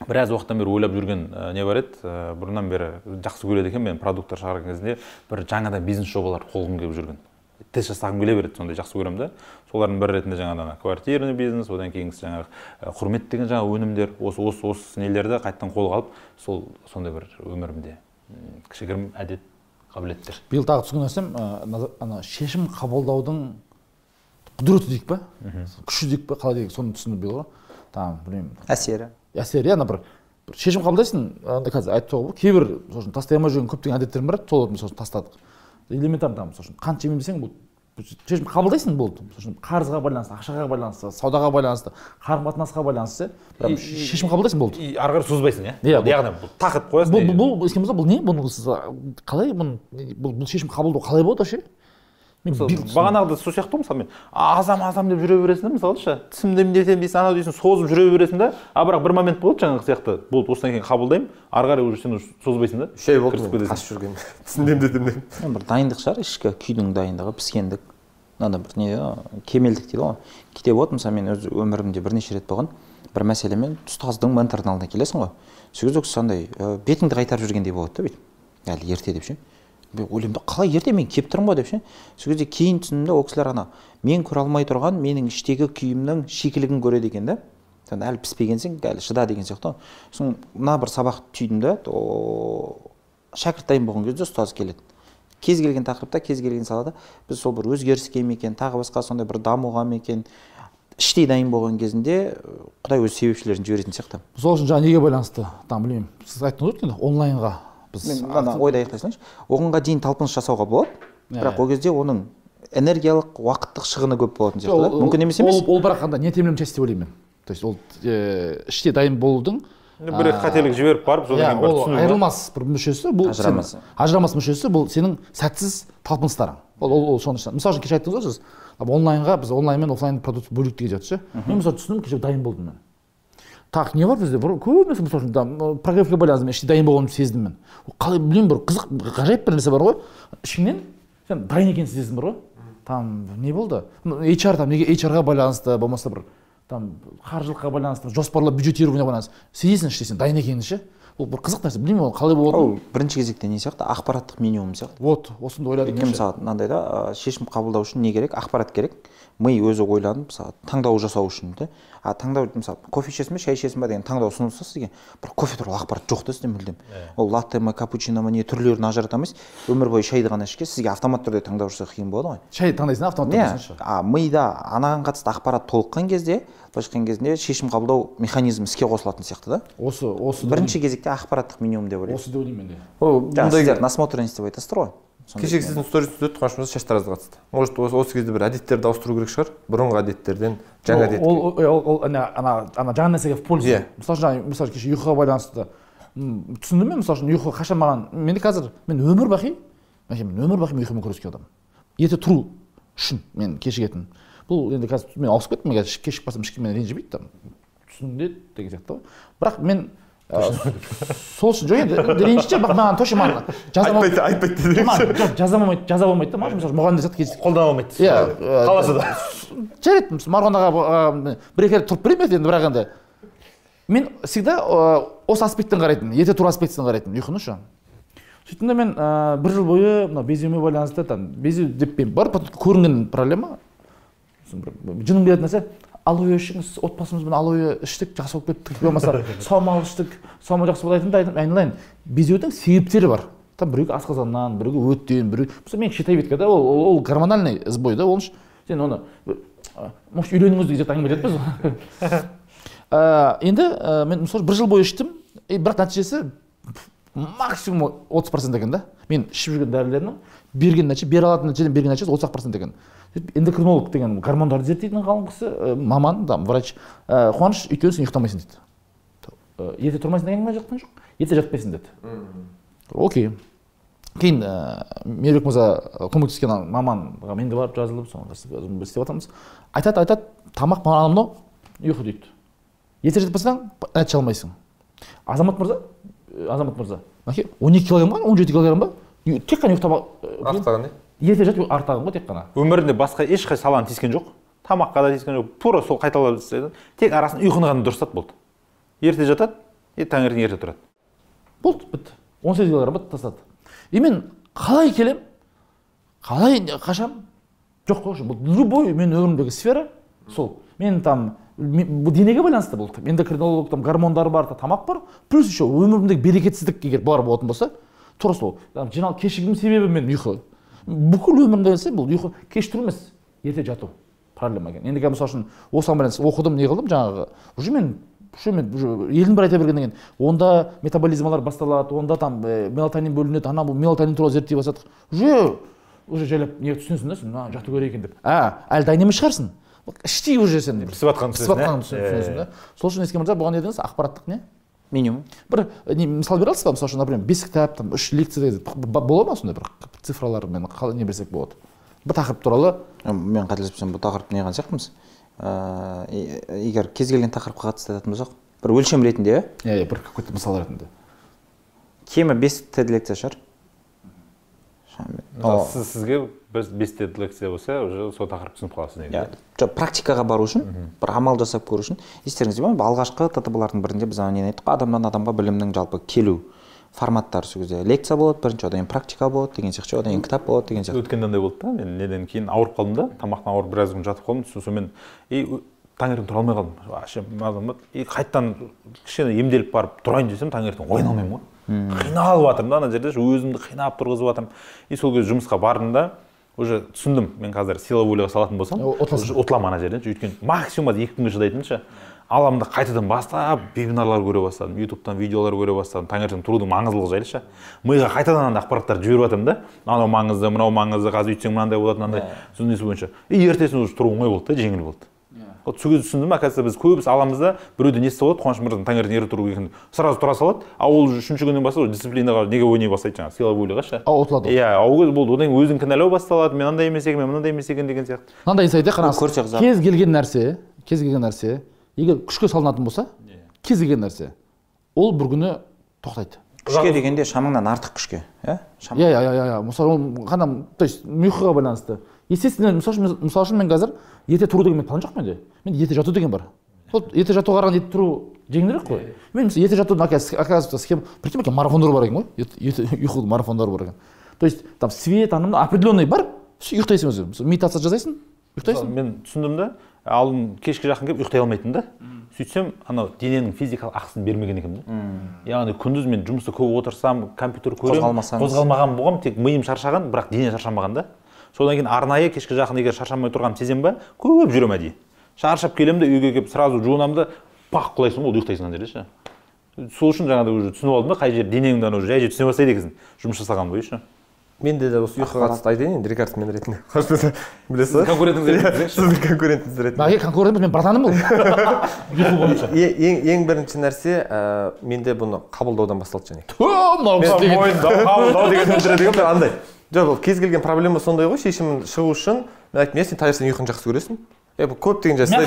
біраз уақыттан бері ойлап жүрген не бар еді, бұрыннан бері жақсы көреді екен мен продукттар шығарған кезінде бір жаңадан бизнес жобалар қолым келіп жүрген. Тест жасағым келе береді, сондай жақсы көремін да. Солардың бірі ретінде жаңағы квартирный бизнес, одан кейінгісі жаңағы құрмет деген жаңағы өнімдер, осы осы осы нелерді қайттан қолға алып, сол сондай бір өмірімде кішігірім әдет, қабілеттер. Биыл тағы түсінген нәрсем, ана шешім қабылдаудың құдіреті дейік па? Күші дейік па? Қалай дейік? Соны түсіндім биыл ғой. Тамам, білмеймін. Әсері. Әсері, ана бір шешім қабылдайсың, андай қазір айтып тұрған кейбір сосын тастай алмай жүрген көптеген әдеттерім бар, соларды сосын тастадық. Элементарно там, сосын қанша жемесең бұл шешім қабылдайсың болды. Сосын қарызға байланысты, ақшаға байланысты, саудаға байланысты, қарым-қатынасқа байланысты шешім қабылдайсың болды. И ары қарай созбайсың, иә? Яғни бұл тақырып қоясың. Бұл бұл ескендіміз бұл не? Бұны қалай бұл бұл шешім қабылдау қалай болады ше? Бағанағыда сол сияқты ғой, мысалы мен азам азам деп жүре бересің да, мысалы ше, тісімді емдетемін дейсің, анау дейсің, созып жүре бересің да, а бірақ бір момент болады жаңағы сияқты, болды, осыдан кейін қабылдаймын, ары қарай уже сен созбайсың да. Шей болды мен қасып жүрген. Тісімді емдетемін. Бір дайындық шығар, ішкі күйдің дайындығы, піскендік. Мынандай бір не кемелдік дейді ғой. Кейде болады, мысалы мен өз өмірімде бірнеше рет болған бір мәселемен ұстаздың ментордың алдына келесің ғой. Сол кезде сондай бетіңді қайтарып жүргендей болады да бүйтіп. Әлі ерте деп ше. мен ойлаймын да қалай ерте мен келіп тұрмын ғой деп ше. Сол кезде кейін түсіндім да ол кісілер ана мен көре алмай тұрған менің іштегі күйімнің шикілігін көреді екен да. Сен әлі піспегенсің, әлі шыда деген сияқты. Сосын мына бір сабақ түйдім да, шәкірт дайын болған кезде ұстаз келеді. Кез келген тақырыпта, кез келген салада біз сол бір өзгеріске ме екен, тағы басқа сондай бір дамуға ме екен, іштей дайын болған кезінде Құдай өз себепшілерін жіберетін сияқты. Сол үшін жаңа неге байланысты? Там білмеймін. Сіз айттыңыз ғой онлайнға біз мен мына ойды аяқтай салайыншы. Оғанға дейін талпыныс жасауға болады, бірақ ол кезде оның энергиялық, уақыттық шығыны көп болатын сияқты. Мүмкін емес емес. Ол бірақ қандай не темлем часть деп ойлаймын мен. То есть ол іштей дайын болудың бір рет қателік жіберіп барып содан кейін бір түсіну. Айырылмас бір мүшесі, бұл ажырамас. Ажырамас мүшесі бұл сенің сәтсіз талпыныстарың. Ол ол соны мысалы үшін кеше айттыңыз ғой сіз онлайнға біз онлайн мен офлайн продукт бөлек деген жатыр ше. Мен мысалы түсіндім, кеше дайын болдым мен. Так не бар бізде бір көбінесе мысалы үшін прогревке байланысты мен іштей дайын болғанымды сездім мен. Қалай білмеймін бір қызық ғажайып бір нәрсе бар ғой. Ішіңнен сен дайын екенсің сездім бар ғой. Там не болды? эйч ар там неге эйч ар-ға байланысты болмаса бір там қаржылыққа байланысты, жоспарлап бюджетированиеге байланысты сезесің іште сен дайын екенін ше. Ол бір қызық нәрсе, білмеймін ол қалай болады. Ол бірінші кезекте не сияқты? Ақпараттық минимум сияқты. Вот, осында ойладым. Өйткені мысалы мынандай да шешім қабылдау үшін не керек? Ақпарат керек. Ми өзі ойланып, мысалы таңдау жасау үшін да. А таңдау мысалы кофе ішесің бе, шай ішесің бе деген таңдау ұсынылса сізге бір кофе туралы ақпарат жоқ та сізде мүлдем. Ол латте ма, капучино ма не түрлерін ажырата алмайсыз. Өмір бойы шайды ғана ішке сізге автомат түрде таңдау жасау қиын болады ғой. Шай таңдайсың автомат түрде. А мида анаған қатысты ақпарат толыққан кезде, былайша айтқан кезінде шешім қабылдау механизмі іске қосылатын сияқты да. Осы осы бірінші кезекте ақпараттық минимум деп ойлаймын. Осы деп ойлаймын мен де. Ол сіздер насмотренность деп айтасыздар ғой. Кешегі сіздің сторисіңізде өтті Қуаныш мырза шаштаразға қатысты. Может осы кезде бір әдеттерді ауыстыру керек шығар? Бұрынғы әдеттерден жаңа әдетке. Ол ол ана ана ана жаңа нәрсеге в пользу. Мысалы жаңа мысалы кеше ұйқыға байланысты түсіндім мен мысалы үшін ұйқы қашан маған мен қазір мен өмір бақи мен өмір бақи ұйқымен күрескен адаммын. Ерте тұру үшін мен кешігетін. Бұл енді қазір мен ауысып кеттім, мен қазір кешігіп қалсам ешкім мені ренжімейді там. Түсінді деген сияқты ғой. Бірақ мен сол үшін жоқ енді ренжітсе бірақ маған точно маған жаза айтпайды айтпайды деді. Жаза болмайды, жаза болмайды да. Маған мысалы мұғалімдер сияқты кездесіп қолдана алмайды. Иә, қаласа да. Жарайды, Марғұн аға бір екі рет тұрып беремін енді, бірақ енді мен всегда осы аспекттен қарайтынмын, ерте тұру аспектісін қарайтынмын ұйқыны ше. Сөйттім де мен бір жыл бойы мына безуіме байланысты там безу деп бар көрінген проблема. Жыным келетін нәрсе алоэ ішіңіз, отбасымызбен алоэ іштік, жақсы болып кеттік, болмаса саумал іштік, саумал жақсы болады айтып айналайын. Безудің себептері бар. Там біреуге асқазаннан, біреуге өттен, біреу. Мысалы мен щитовидка да, ол ол гормональный сбой да, ол сен оны может үйленіңіз деген сияқты әңгіме айтады. Енді мен мысалы бір жыл бойы іштім, бірақ нәтижесі максимум отыз процент екен да. Мен ішіп жүрген дәрілердің берген нәтиже, бере алатын нәтижеден берген нәтижесі отыз процент екен. Эндокринолог деген гормондарды зерттейтін ғалым кісі, маман, там, врач, Қуаныш, өйткені сен ұйықтамайсың дейді. Ерте тұрмайсың деген әңгіме жақтың жоқ, ерте жатпайсың деді. Окей. Кейін Меруерт мырза көмектескен маманға мен де барып жазылып, соны істеп жатырмыз. Айтады, айтады, тамақ маған мынау ұйқы дейді. Ерте жатпасаң, нәтиже алмайсың. Азамат мырза, Азамат мырза, он екі килограмм ба, он жеті килограмм ба? Тек қана ұйықтамақ. Артаған не? Ерте жатып артағым ғой тек қана. Өмірінде басқа ешқай саланы тиіскен жоқ. Тамаққа да тиіскен жоқ. Тура сол қайталап істеді. Тек арасын ұйқыны ғана дұрыстады болды. Ерте жатады, и таңертең ерте тұрады. Болды, бітті. он сегіз килограмм бітті тастады. И мен қалай келем? Қалай қашам? Жоқ қой, бұл любой мен өмірімдегі сфера сол. Мен там бұл денеге байланысты болды. Эндокринолог, там гормондар бар, тамақ бар. Плюс еще өмірімдегі берекетсіздік егер бар болатын болса, тура сол. Жинал кешігім себебі мен ұйқы. Бүкіл өмірімде келсе бұл ұйқы кеш тұру емес, ерте жату проблема екен. Енді мысалы үшін осыған байланысты оқыдым, не қылдым жаңағы. Уже мен елдің бір айта бергеннен кейін, онда метаболизмалар басталады, онда там мелатонин бөлінеді, ана бұл мелатонин туралы зерттей бастадық. Уже уже жайлап не түсінесің да сен, жату керек екен деп. А, әлі дайын емес шығарсың. Іштей уже сен пісіп жатқанын түсінесің да. Сол үшін еске мырза бұған не дедіңіз? Ақпараттық не? Минимум. Бір мысал бере аласыз ба? Мысалы үшін, например, бес кітап, там үш лекция бола ма сондай бір цифралармен қалай не берсек болады? Бір тақырып туралы. Мен қателеспесем, бұл тақырыпты неған сияқтымыз. Егер кез келген тақырыпқа қатысты айтатын болсақ, бір өлшем ретінде, иә, иә, бір какой-то мысал ретінде. Кемі бес тед лекция шығар. Сіз сізге біз бес тед лекция болса, уже сол тақырып түсініп қаласыз негізі. Практикаға бару үшін, бір амал жасап көру үшін, естеріңізде ме, алғашқы ТТБ-лардың бірінде біз нені айттық, адамнан адамға білімнің жалпы келу форматтар сол кезде лекция болады бірінші, одан кейін практика болады деген сияқты, одан кейін кітап болады деген сияқты. Өткенде андай болды да, мен неден кейін ауырып қалдым да, тамақтан ауырып біраз күн жатып қалдым. Сонымен и таңертең тұра алмай қалдым. Вообще мазамат. И қайтадан кішкене емделіп барып тұрайын десем, таңертең ояна алмаймын ғой. Қиналып жатырмын да ана жерде, өзімді қинап тұрғызып жатырмын. И сол кезде жұмысқа бардым да, уже түсіндім, мен қазір сила волеға салатын болсам, ұтыламын ана жерден. Өйткені максимум екі күнге шыдайтыншы. Аламды қайтадан бастап, вебинарлар көре бастадым, ютубтан видеолар көре бастадым. Таңертең тұрудың маңыздылығы жайлы ше. Миға қайтадан андай ақпараттар жіберіп жатырмын да. Анау маңызды, мынау маңызды, қазір үйтсең мынандай болады, мынандай. Соның несі бойынша. И ертесін уже тұру оңай болды да, жеңіл болды. Вот сол кезде түсіндім, оказывается, біз көбісі аламыз да, біреуде несі болады, Қуаныш мырзаның таңертең ерте тұру екен, сразу тұра салады, а ол үшінші күннен бастап дисциплинаға неге ойнай бастайды жаңағы, сила волеға ше. А ұтылады. Иә, ол кезде болды. Одан өзін кінәлау басталады, мен андай емес екен, мен мынандай емес екен деген сияқты. Мынандай инсайт қараңыз. Кез келген нәрсе, кез келген нәрсе, егер күшке салынатын болса, кез келген нәрсе, ол бір күні тоқтайды. Күшке дегенде шамыңнан артық күшке, иә? Иә, иә, иә, иә. Мысалы, қана, то есть миқаға байланысты. Естественно, мысалы үшін мен қазір ерте тұру деген мен план жоқ менде. Мен ерте жату деген бар. Сол ерте жатуға қарағанда ерте тұру жеңілірек қой. Мен мысалы ерте жатудың оказывается схема, прикинь, екен марафондар бар екен ғой. Ерте ұйқы марафондар бар екен. То есть там свет, анау определенный бар. Ұйықтайсың өзі. Медитация жасайсың, ұйықтайсың. Мен түсіндім да, алдын кешке жақын келіп ұйықтай алмайтын да. Сөйтсем, анау дененің физикалық ақысын бермеген екен да. Яғни күндіз мен жұмыста көп отырсам, компьютер көремін, қозғалмаған болғам, тек миым шаршаған, бірақ дене шаршамаған да. Содан кейін арнайы кешке жақын егер шаршамай тұрғанын сезем ба, көп жүрем әдейі. Шаршап келем де үйге келіп сразу жуынамды, пақ құлайсың ол ұйықтайсың ана жерде ше. Сол үшін жаңағыдай уже түсініп алдым да, қай жер денеңді уже жай түсіне бастайды екенсің. Жұмыс жасаған бойы ше. Менде де осы ұйқыға қатысты айтайын енді рекордсмен ретінде. Білесіз ба? Конкурентіңіз ретінде. Сіздің конкурентіңіз ретінде. Бағы конкурент мен братаным бұл. Ұйқы бойынша. Ең бірінші нәрсе менде бұны қабылдаудан басталды және. Қабылдау деген түсіндіреді андай. Жоқ, бұл кез келген проблема сондай ғой, шешімін шығу үшін мен айттым, е сен таңертең ұйқыны жақсы көресің. Е бұл көптеген жастар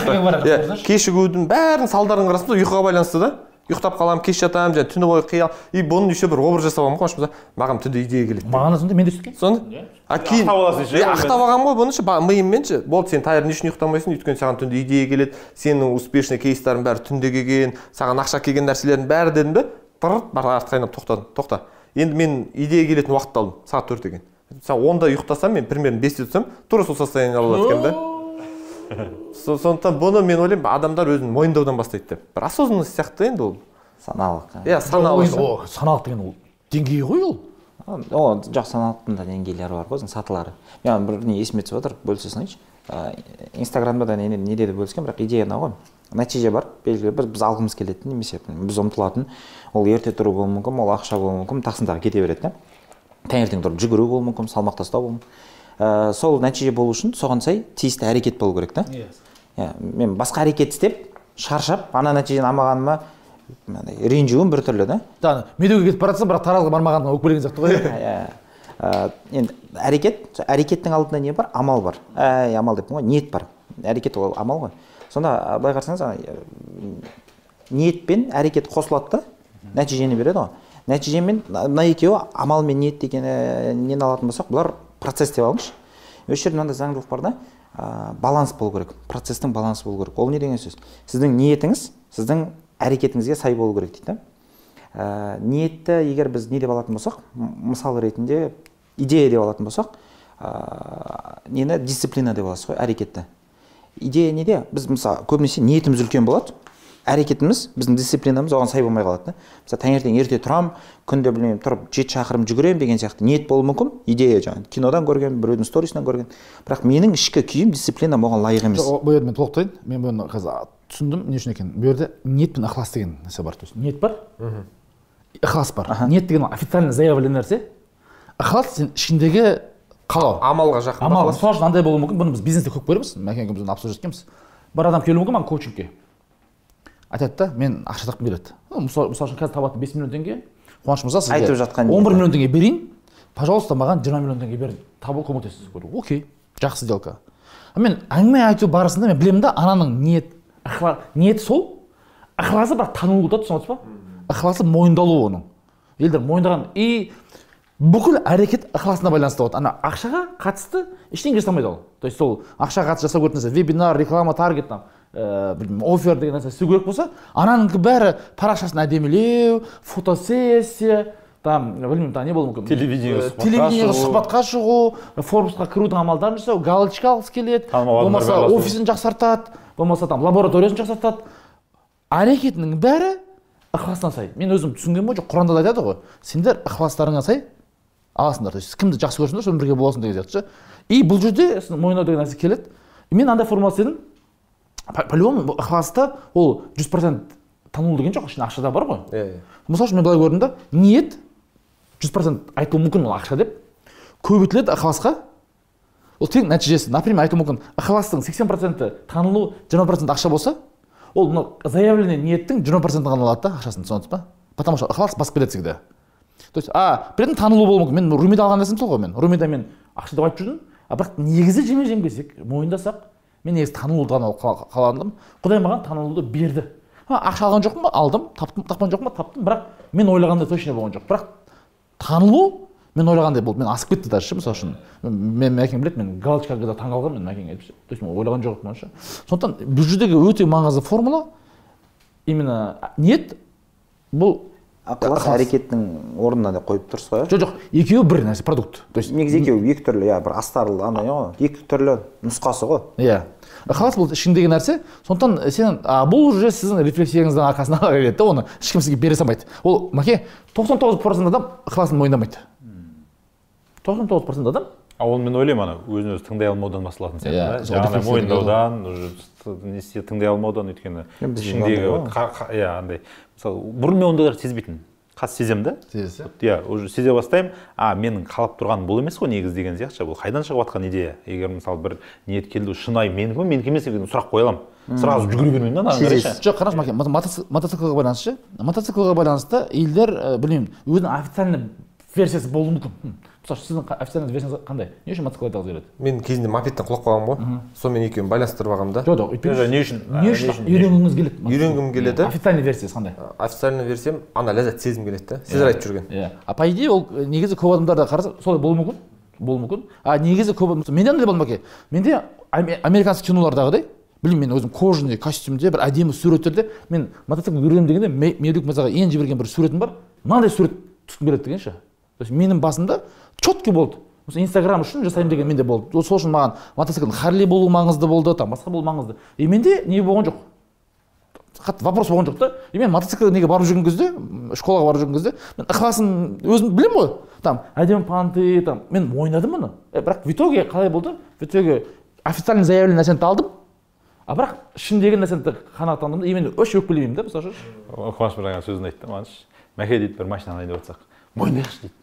кешігудің бәрін салдарын қарасам ұйқыға байланысты да. Ұйықтап қаламын, кеш жатамын, және түні бойы қиял. И бұның еще бір образ жасап аламын Қуаныш мырза. Маған түнде идея келеді. Маған да сондай, мен де сөйткен. Сонда? А кейін ақтап алғанмын ғой бұны ше, миыммен ше. Болды, сен таңертең не үшін ұйықтамайсың? Өйткені саған түнде идея келеді. Сенің успешный кейстарың бәрі түнде келген, саған ақша келген нәрселердің бәрі дедім де. Тырт, бар артқа айналып тоқтадым. Тоқта. Енді мен идея келетін уақытты алдым. Сағат төрт екен. Сен онда ұйықтасам, мен примерно бесте тұрсам, тура сол состояние алып жатқан да. Сондықтан бұны мен ойлаймын, адамдар өзін мойындаудан бастайды деп. Бір осознанность сияқты енді ол. Саналық. Иә, саналық. О, саналық деген ол деңгейі ғой ол. О, жоқ, саналықтың да деңгейлері бар ғой, сатылары. Мен бір не есіме түсіп отыр, бөлісесің айтшы. Инстаграмда да не деді бөліскен, бірақ идея мынау ғой. Нәтиже бар, белгілі бір біз алғымыз келетін немесе біз ұмтылатын. Ол ерте тұру болуы мүмкін, ол ақша болуы мүмкін, тақсындағы кете береді. Таңертең тұрып жүгіру болуы мүмкін, салмақ тастау болуы мүмкін. Сол нәтиже болу үшін соған сай тиісті әрекет болу керек та. Мен басқа әрекет істеп, шаршап, ана нәтижені алмағаныма ренжуім бір түрлі да. Да, медеуге кетіп баратса, бірақ таразға бармағанына өкпелеген сияқты ғой. Иә. Енді әрекет, әрекеттің алдында не бар? Амал бар. Әй, амал деппін ғой, ниет бар. Әрекет ол амал ғой. Сонда былай қарасаңыз, ниет пен әрекет қосылады да, нәтижені береді ғой. Нәтижемен мына екеуі амал мен ниет деген нені алатын болсақ, бұлар процесс деп алыңызшы. Осы жерде мынандай заңдылық бар да, баланс болу керек. Процестің балансы болу керек. Ол не деген сөз? Сіздің ниетіңіз, сіздің әрекетіңізге сай болу керек дейді. Ниетті егер біз не деп алатын болсақ, мысал ретінде идея деп алатын болсақ, нені дисциплина деп аласыз ғой, әрекетті. Идея неде? Біз мысалы көбінесе ниетіміз үлкен болады. Әрекетіміз, біздің дисциплинамыз оған сай болмай қалады. Мысалы таңертең ерте тұрам, күнде білмеймін, тұрып жеті шақырым жүгірем деген сияқты ниет болуы мүмкін. Идея жаңағы кинодан көрген, біреудің сторисінен көрген. Бірақ менің ішкі күйім, дисциплинам оған лайық емес. Бұл жерде мен толықтайын. Мен бұны қазір түсіндім, не үшін екенін. Бұл жерде ниет пен ықылас деген нәрсе бар. Ниет бар, ықылас бар. Ниет деген официально заявлен нәрсе. Ықылас сен ішіндегі қалау. Амалға жақын. Амал, мысалы үшін андай болуы мүмкін. Бұны біз бизнесте көп көреміз. Мәкең екеуміз обсуждать еткенбіз. Бір адам келуі мүмкін маған коучингке. Айтады да, мен ақша тапқым келеді. Мысалы үшін қазір табатын бес миллион теңге, Қуаныш мырза сізге он бір миллион теңге берейін, пожалуйста, маған жиырма миллион теңге берін, табу көмектесіңіз. Окей, жақсы сделка. Мен әңгіме айту барысында мен білемін да, ананың ниет, ниеті сол, ықыласы бірақ танылу да, түсінесіз ба? Ықыласы мойындалу оның. Елдер мойындаған и бүкіл әрекет ықыласына байланысты болады. Ана ақшаға қатысты ештеңе жасамайды ол. То есть сол ақшаға қатысты жасау керек нәрсе, вебинар, реклама, таргет там, офер деген нәрсе істеу керек болса, ананың бәрі парақшасын әдемілеу, фотосессия, там білмеймін там не болуы мүмкін телевидениеге телевидениеге сұхбатқа шығу, Форбсқа кірудің амалдарын жасау, галочка алғысы келеді, болмаса офисін жақсартады, болмаса там лабораториясын жақсартады. Әрекетінің бәрі ықыласына сай. Мен өзім түсінгенім жоқ, Құранда да айтады ғой, сендер ықыластарыңа сай аласыңдар, то есть кімді жақсы көрсеңдер сонымен бірге боласың деген сияқты. И бұл жерде мойындау деген нәрсе келеді. Мен андай формула істедім. По-любому ықыласта ол жүз процент танылу деген жоқ, ішінде ақша да бар ғой. Иә. Мысалы үшін мен былай көрдім да, ниет жүз процент айтылуы мүмкін ол ақша деп. Көбейтіледі ықыласқа. Ол тең нәтижесі. Например, айтуы мүмкін, ықыластың сексен проценті танылу, жиырма процент ақша болса, ол мына заявленный ниеттің жиырма проценті ғана алады да ақшасын, түсінесіз ба? Потому что ықылас басып кетеді всегда. То есть, а, при этом танылу болуы мүмкін. Мен Румида алған нәрсем сол ғой мен. Румида мен ақша деп айтып жүрдім, а бірақ негізі жеме-жем келсек, мойындасақ, мен негізі танылуды ғана қаладым. Құдай маған танылуды берді. Ақша алған жоқпын ба? Алдым, таптым, тапқан жоқпын ба? Таптым, бірақ мен ойлағандай точно болған жоқ. Бірақ танылу мен ойлағандай болды. Мен асып кетті даже, мысалы үшін. Мен Мәкең біледі, мен галочкаға да таңғалған, мен Мәкеңге айтып, то есть мен ойлаған жоқпын онша. Сондықтан бұл жердегі өте маңызды формула именно ниет бұл ықылас әрекеттің орнына да қойып тұрсыз ғой. Жоқ, жоқ, екеуі бір нәрсе, продукт. То есть негізі екеуі екі түрлі, иә, бір астарлы андай ғой, екі түрлі нұсқасы ғой. Иә. Ықылас бұл ішіңдегі нәрсе. Сондықтан сен бұл уже сіздің рефлексияңыздың арқасында келеді да, оны ешкім сізге бере салмайды. Ол Мәке тоқсан тоғыз процент адам ықыласын мойындамайды. тоқсан тоғыз процент адам. А оны мен ойлаймын, ана өзін өзі тыңдай алмаудан басталатын сияқты. Жаңағыдай мойындаудан, уже не істе тыңдай алмаудан, өйткені ішіңдегі иә андай. Мысалы, бұрын мен ондайларды сезбейтінмін. Қазір сеземін да? Сезесіз? Иә, уже сезе бастаймын. А, менің қалап тұрғаным бұл емес қой негізі деген сияқты. Бұл қайдан шығып жатқан идея? Егер мысалы бір ниет келді, шынайы менікі ме, менікі емес деген сұрақ қоя аламын. Сразу жүгіре бермеймін да, қарашы. Жоқ, қарашы Мәке, мотоциклға байланысты, мотоциклға байланысты елдер, білмеймін, өзінің официальный версиясы болуы мүмкін. Мысалы, сіздің официальный версияңыз қандай? Не үшін мотоцикл айтағыңыз келеді? Мен кезінде мопедтен құлап қалғанмын ғой. Сонымен екеуін байланыстырып алғанмын да. Жоқ, жоқ, не үшін? Не үшін үйренгіңіз келеді? Үйренгім келеді. Официальный версиясы қандай? Официальный версиям ана ләззат сезім келеді да. Сіздер айтып жүрген. Иә. А по идее ол негізі көп адамдарда қараса солай болуы мүмкін. Болуы мүмкін. А негізі көп адам менде андай болмақ. Менде американский кинолардағыдай, білмеймін, мен өзім кожаный костюмде бір әдемі суреттерде мен мотоцикл үйренемін дегенде Мерук мырзаға ең жіберген бір суретім бар. Мынандай сурет түскім келеді дегенше. То есть менің басымда четкий болды. Осы Инстаграм үшін жасаймын деген менде болды. Сол үшін маған мотоциклдің Харли болу маңызды болды, там басқа болу маңызды. И менде не болған жоқ. Қатты вопрос болған жоқ та. И мен мотоциклге неге барып жүрген кезде, школаға барып жүрген кезде, мен ықыласын өзім білемін ғой. Там әдемі панты, там мен мойындадым мұны. Бірақ в итоге қалай болды? В итоге официально заявленный нәрсені алдым. А бірақ ішіндегі нәрсені қанағаттандым да, и мен өш өкпелемеймін да, мысалы. Қуаныш бір сөзін айтты маған. Мәке дейді, бір машинаны айдап отырсақ, мойындайықшы дейді.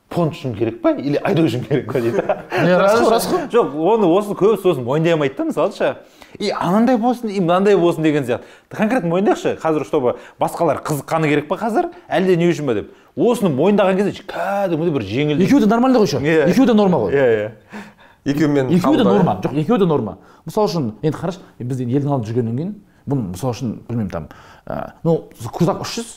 Понт үшін керек па или айдау үшін керек па дейді. Жоқ, оны осы көбісі сосын мойындай алмайды да, мысалыша. И анандай болсын, и мынандай болсын деген сияқты. Конкретно мойындайықшы, қазір чтобы басқалар қызыққаны керек па қазір, әлде не үшін ба деп. Осыны мойындаған кезде кәдімгідей бір жеңіл. Екеуі де нормально ғой еще. Екеуі де норма ғой. Иә, иә. Екеуі мен екеуі де норма. Жоқ, екеуі де норма. Мысалы үшін, енді қараш, біз елдің алдында жүргеннен кейін, бұны мысалы үшін білмеймін там, ну, крузак үш жүз,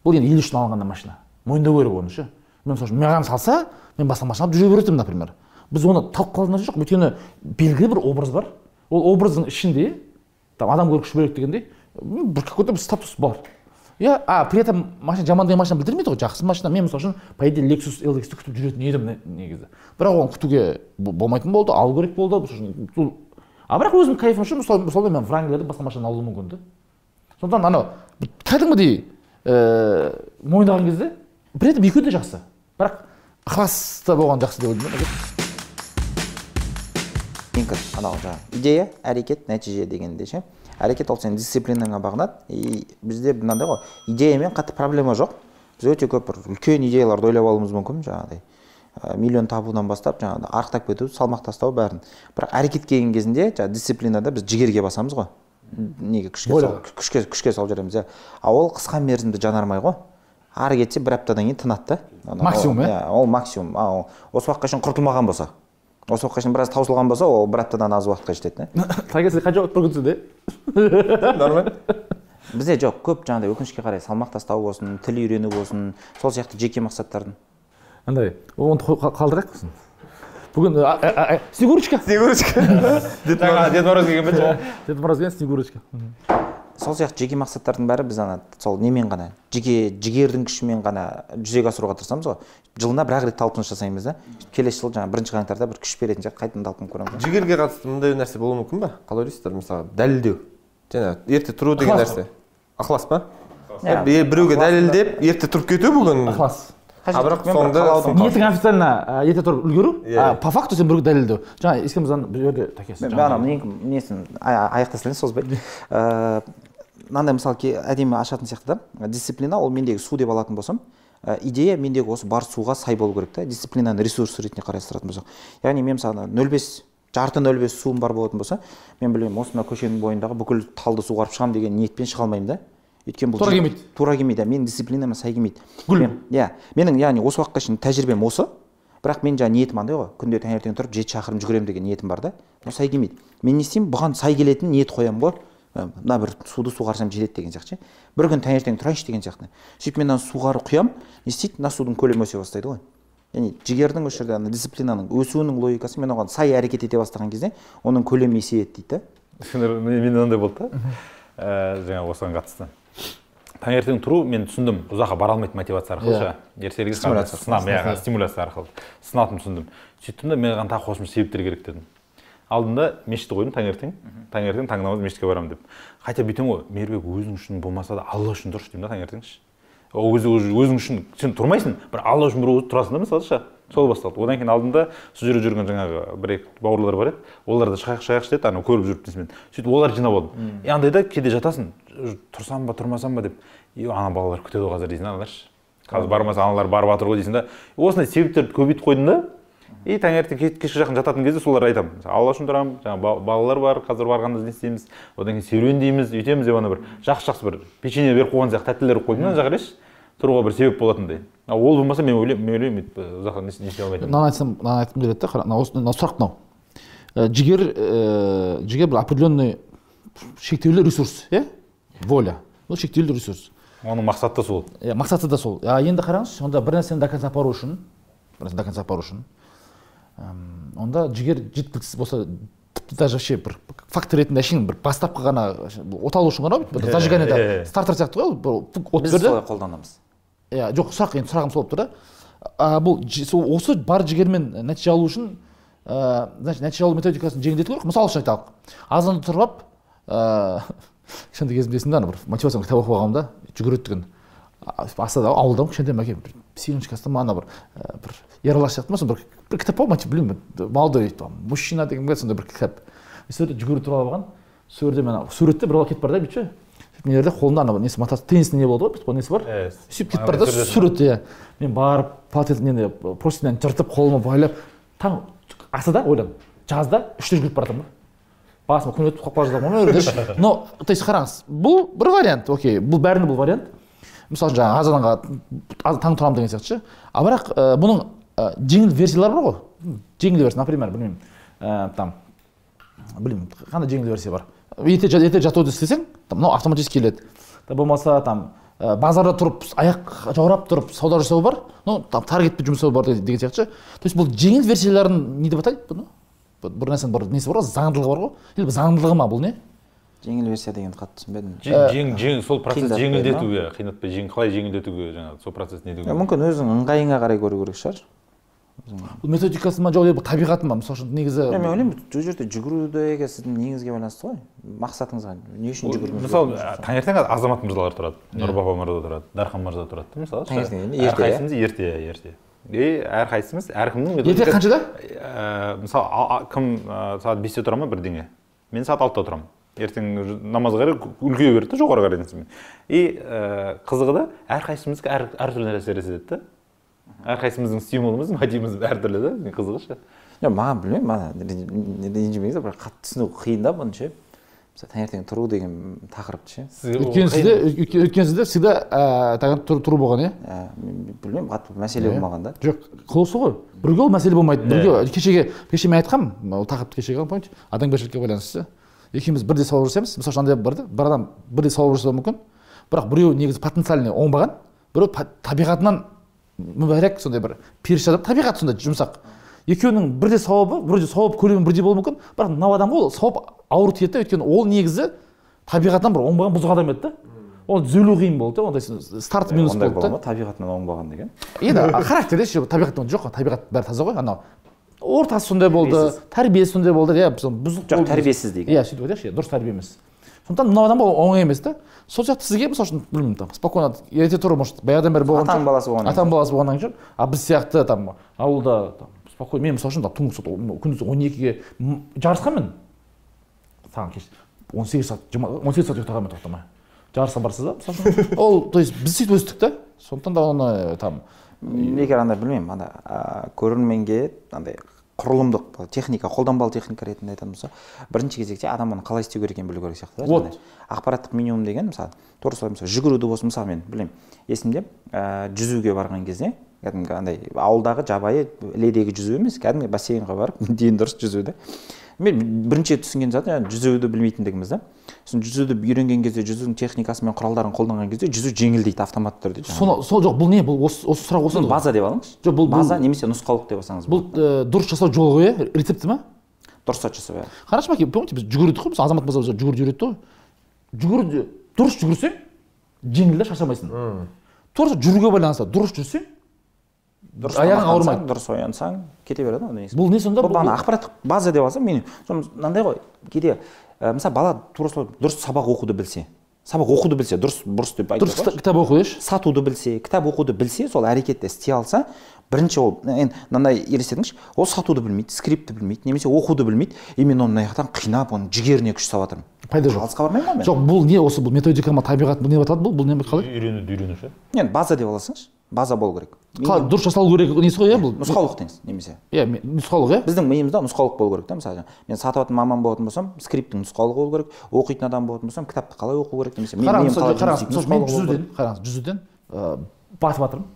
бұл енді ел үшін алынған машина. Мойындау керек оны ше. Мен мысалы үшін маған салса, мен басқа машина жүре беретінмін, например. Біз оны талқылаған жоқ, өйткені белгілі бір образ бар. Ол образдың ішінде, там адам көргіш бөлек дегендей, бір какой-то бір статус бар. Я, а при этом машина жамандай машина білдірмейді ғой, жақсы машина. Мен мысалы үшін по идее Lexus эл иксті күтіп жүретін едім негізі. Бірақ оны күтуге болмайтын болды, алу керек болды. А бірақ өзім кайфым үшін мысалы мен Wranglerді басқа машина алуым мүмкін да. Сондықтан анау кәдімгідей мойындаған кезде при этом екеуі де жақсы. Бірақ ықыласта болған жақсы деп ойлаймын. Анау жаңағы идея, әрекет, нәтиже дегенде ше. Әрекет ол сенің дисциплинаңа бағынады. И бізде мынандай ғой, идеямен қатты проблема жоқ. Біз өте көп бір үлкен идеяларды ойлап алуымыз мүмкін, жаңағыдай. Миллион табудан бастап, жаңағыдай арықтап кету, салмақ тастау бәрін. Бірақ әрекетке келген кезінде, жаңағы дисциплинада біз жігерге басамыз ғой. Неге күшке күшке күшке салып жүреміз. А ол қысқа мерзімді жанармай ғой. Ары кетсе бір аптадан кейін тынады да. Максимум, иә? Ол максимум. Осы уақытқа шейін құртылмаған болса. Осы уақытқа шейін біраз таусылған болса, ол бір аптадан аз уақытқа жетеді. Таге сіз қанша уақыт тұрғынсыз де? Нормально. Бізде жоқ, көп жаңағыдай өкінішке қарай салмақ тастау болсын, тіл үйрену болсын, сол сияқты жеке мақсаттардың. Андай, оны қалдырайық болсын. Бүгін Снегурочка. Снегурочка. Дед Мороз келген бе? Дед Мороз келген Снегурочка. сол сияқты жеке мақсаттардың бәрі біз ана сол немен ғана жеке жігердің күшімен ғана жүзеге асыруға тырысамыз ғой. Жылына бір ақ рет талпыныс жасаймыз да. Келесі жыл жаңа бірінші қаңтарда бір күш беретін сияқты қайтадан талпынып көреміз. Жігерге қатысты мындай нәрсе болуы мүмкін ба? Қалай ойлайсыздар? Мысалы, дәлелдеу. Жаңа ерте тұру деген нәрсе. Ықылас па? Біреуге дәлелдеп, ерте тұрып кету бүгін. Ықылас. А бірақ соңында ниетің официально ерте тұрып үлгеру, а по факту сен біреуге дәлелдеу. Жаңа ескемізден бұл жерде тәкес. Мен ана несін аяқта сілен созбай. Мынандай мысалы әдемі ашатын сияқты да. Дисциплина ол мендегі су деп алатын болсам, идея мендегі осы бар суға сай болу керек та. Дисциплинаны ресурс ретінде қарастыратын болсақ. Яғни мен мысалы нөл бес жарты нөл бес суым бар болатын болса, мен білемін осына көшенің бойындағы бүкіл талды су қарып шығамын деген ниетпен шыға алмаймын да. Өйткені бұл тура келмейді. Тура келмейді. Менің дисциплинама сай келмейді. Иә, менің яғни осы уақытқа шейін тәжірибем осы. Бірақ мен жаңа ниетім андай ғой, күнде таңертең тұрып жеті шақырым жүгіремін деген ниетім бар да. Но сай келмейді. Мен не істеймін? Бұған сай келетін ниет қоямын ғой. Мына бір суды суғарсам жетеді деген сияқты. Бір күн таңертең тұрайыншы деген сияқты. Сөйтіп мен суғары құям, не істейді? Мына судың көлемі өсе бастайды ғой. Яғни жігердің осы жерде дисциплинаның өсуінің логикасы мен оған сай әрекет ете бастаған кезде оның көлемі есейеді дейді да. Мен мынандай болды да. Жаңа осыған қатысты. Таңертең тұру мен түсіндім, ұзаққа бара алмайтын мотивация арқылы ша. Ертеңгі сынам, яғни стимуляция арқылы сынатым түсіндім. Сөйттім де маған тағы қосымша себептер керек дедім. Алдында мешітті қойдым таңертең, таңертең таң намаз мешітке барамын деп. Қайта бүйтемін ғой, Мейірбек өзің үшін болмаса да Алла үшін тұршы деймін да таңертеңші. Ол өзің үшін сен тұрмайсың, бір Алла үшін бір тұрасың да мысалы ша. Сол басталды. Одан кейін алдында сол жерде жүрген жаңағы бір екі бауырлар бар еді. Олар да шығайық шығайықшы деді, ана көріп жүріп дейсің мен. Сөйтіп олар жинап алдым. И андайда кейде жатасың, тұрсам ба, тұрмасам ба деп. И ана балалар күтеді қазір дейсің аналаршы. Қазір бармаса аналар барып жатыр ғой дейсің да. Осындай себептерді көбейтіп қойдым да. И таңертең кешке жақын жататын кезде солар айтамын. Алла үшін тұрамын, жаңағы балалар бар, қазір барғанда не істейміз, одан кейін серуендейміз, өйтеміз деп ана бір жақсы-жақсы бір печенье беріп қойған сияқты тәттілер қойдым да жағыреш. Тұруға бір себеп болатындай. Ол болмаса мен ойлаймын, мен ойлаймын, ұзаққа не істей алмайтын. Мынаны айтсам, мынаны айтқым келеді да, мына сұрақ мынау. Жігер, жігер бір определенный шектеулі ресурс, иә? Воля. Бұл шектеулі ресурс. Оның мақсаты да сол. Иә, мақсаты да сол. Енді қараңыз, онда бір нәрсені до конца апару үшін, бір нәрсені до конца апару үшін, онда жігер жеткіліксіз болса, тіпті даже вообще бір фактор ретінде әшейін бір бастапқы ғана оталу үшін ғана бір зажиганияда стартер сияқты ғой, от берді. Біз солай қолданамыз. Иә, жоқ, сұрақ енді сұрағым сол болып тұр да. Бұл осы бар жігермен нәтиже алу үшін, значит, нәтиже алу методикасын жеңілдету керек. Мысалы үшін айталық. Азанда тұрып, кішкентай кезімде есімде ана бір мотивациялық кітап оқып алғанмын да, жүгіреді деген. Астада ауылдамын, кішкентай мәке бір психологическасы ма ана бір бір Ералаш сияқты ма, бір бір кітап бар ма, білмеймін, молодой мужчина деген сондай бір кітап. Сол жерде жүгіру туралы алған. Сол жерде мен суретте бір бала кетіп бар да, бүйтші. Мен жерде қолында ана несі матасы теннистің не болды ғой, бүйтіп несі бар. Сөйтіп кетіп бар да суретте. Мен барып палатетінен простыняны жыртып қолыма байлап, таң асада ойлан. Жазда үште жүгіріп баратырмын да. Басыма күн өтіп қалып бара жатырмын. Но, то есть қараңыз, бұл бір вариант, окей, бұл бәріне бұл вариант. Мысалы жаңағы азанға таң тұрамын деген сияқты ше. А бірақ бұның жеңіл версиялары бар ғой. Жеңіл версия, например, білмеймін, там, білмеймін, қандай жеңіл версия бар. Ерте жатуды істесең, мынау автоматически келеді. Болмаса там базарда тұрып, аяқ жаурап тұрып, сауда жасау бар. Ну, там таргетпен жұмыс жасау бар деген сияқты ше. То есть бұл жеңіл версияларын не деп атайды бұны? Бір нәрсенің бір несі бар ғой, заңдылығы бар ғой. Или заңдылығы ма бұл не? Жеңіл версия дегенді қатты түсінбедім. Жең, жең, сол процесс жеңілдетуге, қиындатпай жең, қалай жеңілдетуге, жаңағы сол процесс не деуге. Мүмкін өзің ыңғайыңа қарай көру керек шығар. Бұл методикасы ма жоқ, табиғаты ма? Мысалы үшін негізі мен ойлаймын, бұл жерде жүгірудегі сіздің негізге байланысты ғой. Мақсатыңызға не үшін жүгірдіңіз? Мысалы, таңертең Азамат мырзалар тұрады, Нұрбаба мырза тұрады, Дархан мырза тұрады, мысалы. Таңертең ерте, ерте, ерте. И әрқайсымыз, әркімнің ерте қаншада? Мысалы, кім сағат бесте тұра ма бірдеңе? Мен сағат алтыда тұрамын. Ертең намазға қарай үлкейе берді, жоғары қарай дейсің. И қызығы да әрқайсымыздікі әртүрлі нәрсе әсер етеді. Әрқайсымыздың стимулымыз, мотивіміз әртүрлі да, қызығы ше. Я маған білмеймін, маған ренжімеңіз, бірақ қатты түсіну қиын да бұны ше. Мысалы таңертең тұру деген тақырыпты ше. Өйткені сізде всегда таңертең тұру болған, иә? Білмеймін, қатты мәселе болмаған да. Жоқ, қылысы ғой. Бірге ол мәселе болмайды. Бірге кешеге, кеше мен айтқам, ол тақырыпты кешеге алып қойыншы, адамгершілікке байланысты. Екеуміз бірдей сауал жасаймыз. Мысалы андай бар да, бір адам бірдей сауал жасауы мүмкін. Бірақ біреу негізі потенциальный оңбаған, біреу табиғатынан мүбәрәк сондай бір періште адам, табиғаты сондай жұмсақ. Екеуінің бірдей сауабы, бірдей сауап көлемі бірдей болуы мүмкін. Бірақ мынау адам ғой, сауап ауыр тиеді, өйткені ол негізі табиғатынан бір оңбаған бұзық адам еді да. Ол түзелу қиын болды, ондай старт минус ондай болды бола ма да. табиғатынан оңбаған деген? Енді характерде ше табиғаттан жоқ қой, табиғат бәрі таза ғой, анау ортасы сондай болды, тәрбиесі сондай болды, иә, бұзық жоқ тәрбиесіз деген. Иә, сөйтіп айтайықшы, дұрыс тәрбие емес. Сондықтан мынау адам оңай емес та. Сол сияқты сізге мысалы үшін білмеймін там спокойно ерте тұру, может баяғыдан бері болған атаң баласы болғаннан атаң баласы болғаннан кейін, а біз сияқты там ауылда там спокойно, мен мысалы үшін түнгі сағат күндіз он екіге жарысқанмын. Саған кеш он сегіз сағат он сегіз сағат ұйықтағанмын тоқтамай. Жарысқа барсыз да мысалы үшін. Ол то есть біз сөйтіп өстік та. Сондықтан да оны там егер андай білмеймін, ана көрерменге андай құрылымдық техника, қолданбалы техника ретінде айтатын болса, бірінші кезекте адам оны қалай істеу керек екенін білу керек сияқты. Вот. Ақпараттық минимум деген мысалы, тура солай мысалы жүгіруді болсын, мысалы мен білемін, есімде жүзуге барған кезде, кәдімгі андай ауылдағы жабайы іледегі жүзу емес, кәдімгі бассейнға барып дейін дұрыс жүзуді. Мен бірінші түсінген зат жүзуді білмейтіндігіміз да. Сосын жүзуді үйренген кезде, жүзудің техникасы мен құралдарын қолданған кезде жүзу жеңілдейді автоматты түрде. Сол сол жоқ, бұл не? Бұл осы сұрақ осы. База деп алыңызшы. Жоқ, бұл база немесе нұсқаулық деп алсаңыз. Бұл дұрыс жасау жолы ғой, рецепті ма? Дұрыс жасау. Қарашы баки, помните, біз жүгірдік қой, біз азамат мырза жүгіріп жүретті ғой. Жүгіруді дұрыс жүгірсең, жеңіл да шаршамайсың. Тура жүруге байланысты дұрыс жүрсең, аяғың ауырмайды. Дұрыс оянсаң, кете береді ғой. Бұл не сонда? Бұл бағана ақпараттық база деп алсам, мен мынандай ғой, кейде мысалы бала тура солай дұрыс сабақ оқуды білсе, сабақ оқуды білсе, дұрыс бұрыс деп айтып дұрыс кітап оқуды, сатуды білсе, кітап оқуды білсе, сол әрекетті істей алса, бірінші ол енді мынандай елестетіңізші, ол сатуды білмейді, скриптті білмейді, немесе оқуды білмейді, и мен оны мына жақтан қинап, оның жігеріне күш салып жатырмын. Пайда жоқ. Алысқа бармаймын ғой мен. Жоқ, бұл не осы, бұл методика ма, табиғат, бұл не аталады, бұл бұл не қалай? Үйренуді үйренуші. Енді база деп аласыңызшы, база болу керек. Қалай дұрыс жасалу керек несі ғой, иә, бұл? Нұсқаулық деңіз немесе. Иә, нұсқаулық, иә. Біздің миымызда нұсқаулық болу керек та, мысалы мен сататын маман болатын болсам, скрипттің нұсқаулығы болу керек, оқитын адам болатын болсам, кітапты қалай оқу керек немесе мен миым қалай жұмыс істейді, мен жүзуден, қараңыз, жүзуден батып жатырмын.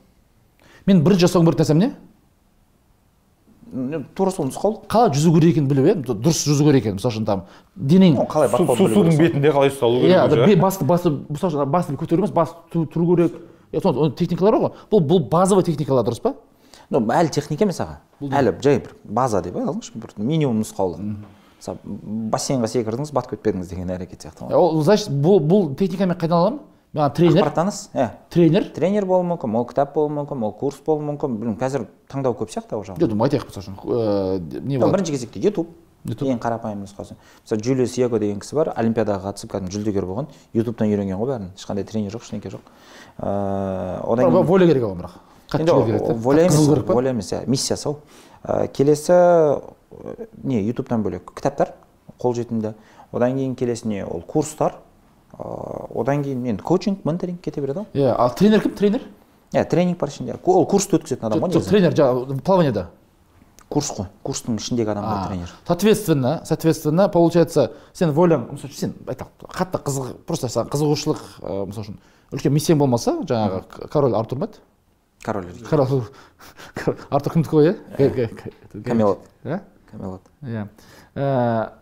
Мен бірінші жасауым керек нәрсем не? Тура сол нұсқаулық. Қалай жүзу керек екенін білу, иә, дұрыс жүзу керек екенін, мысалы үшін там денең қалай батпау білу керек. Судың бетінде қалай ұсталу керек. Иә, басты басты мысалы үшін басты көтеру емес, басты тұру керек. Оның техникалары ғой. Бұл бұл базовый техникалар дұрыс па? Ну, әлі техника емес аға. Әлі жай бір база деп алыңызшы, бір минимум нұсқаулық. Мысалы, бассейнға секірдіңіз, батып кетпедіңіз деген әрекет сияқты ғой. Ол значит, бұл бұл техникамен қайдан аламын? Маған тренер. Ақпараттаныз, иә. Тренер. Тренер болуы мүмкін, ол кітап болуы мүмкін, ол курс болуы мүмкін. Білмеймін, қазір таңдау көп сияқты ол жағын. Жоқ, айтайық мысалы үшін, не болады? Бірінші кезекте YouTube. Ең қарапайым нұсқасы. Мысалы, Джулио Сиего деген кісі бар, Олимпиадаға қатысып, кәдімгі жүлдегер болған. YouTube-тан үйренген ғой бәрін. Ешқандай тренер жоқ, ештеңе жоқ. Одан кейін воля керек оған бірақ. Енді воля емес, воля емес, миссиясы ол. Келесі не, YouTube-тан бөлек кітаптар қолжетімді. Одан кейін келесі не, ол курстар. Одан кейін енді коучинг, менторинг кете береді ғой. Иә, а тренер кім? Тренер? Иә, тренинг бар ішінде. Ол курсты өткізетін адам ғой. Жоқ, тренер жаңағы плаванияда. Курс қой. Курстың ішіндегі адам ғой тренер. Соответственно, соответственно, получается, сен воляң, мысалы үшін сен айтақ, қатты қызық, просто саған қызығушылық, мысалы үшін үлкен миссияң болмаса, жаңағы король Артур ма еді? Король. Король. Артур кімдікі ғой, иә? Камелот. Иә? Камелот. Иә.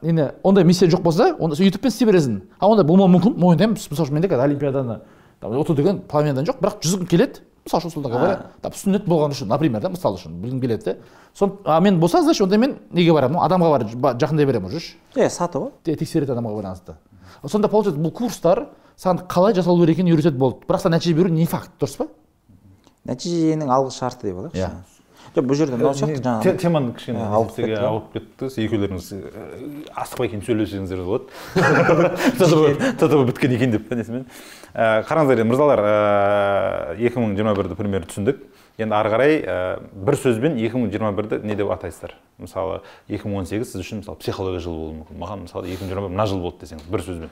Енді ондай миссия жоқ болса, онда ютубпен істей бересің. А ондай болмауы мүмкін, мойындаймын. Мысалы үшін менде қазір олимпиаданы ұту деген планетадан жоқ, бірақ жүзгім келеді. Мысалы үшін солдан говоря, сүннет болған үшін, например, да, мысалы үшін білгім келеді. Сон, а мен болса, значит, онда мен неге барамын? Адамға барып жақындай беремін уже. Иә, саты ғой. Тексеретін адамға байланысты. Сонда получается, бұл курстар саған қалай жасалу керек екенін үйретеді болды. Бірақ саған нәтиже беру не факт, дұрыс па? Нәтиженің алғы шарты деп алайықшы. Иә. Жоқ, бұл жерде мынау сияқты жаңағы теманы кішкене алып кеттіңіз, екеулеріңіз асықпай кейін сөйлесеңіздер болады. ТТБ біткен екен деп несімен. Қараңыздар, мырзалар, екі мың жиырма бірді пример түсіндік. Енді ары қарай бір сөзбен екі мың жиырма бірді не деп атайсыздар? Мысалы, екі мың он сегіз сіз үшін мысалы психология жылы болуы мүмкін. Маған мысалы екі мың жиырма бір мына жыл болды десеңіз, бір сөзбен.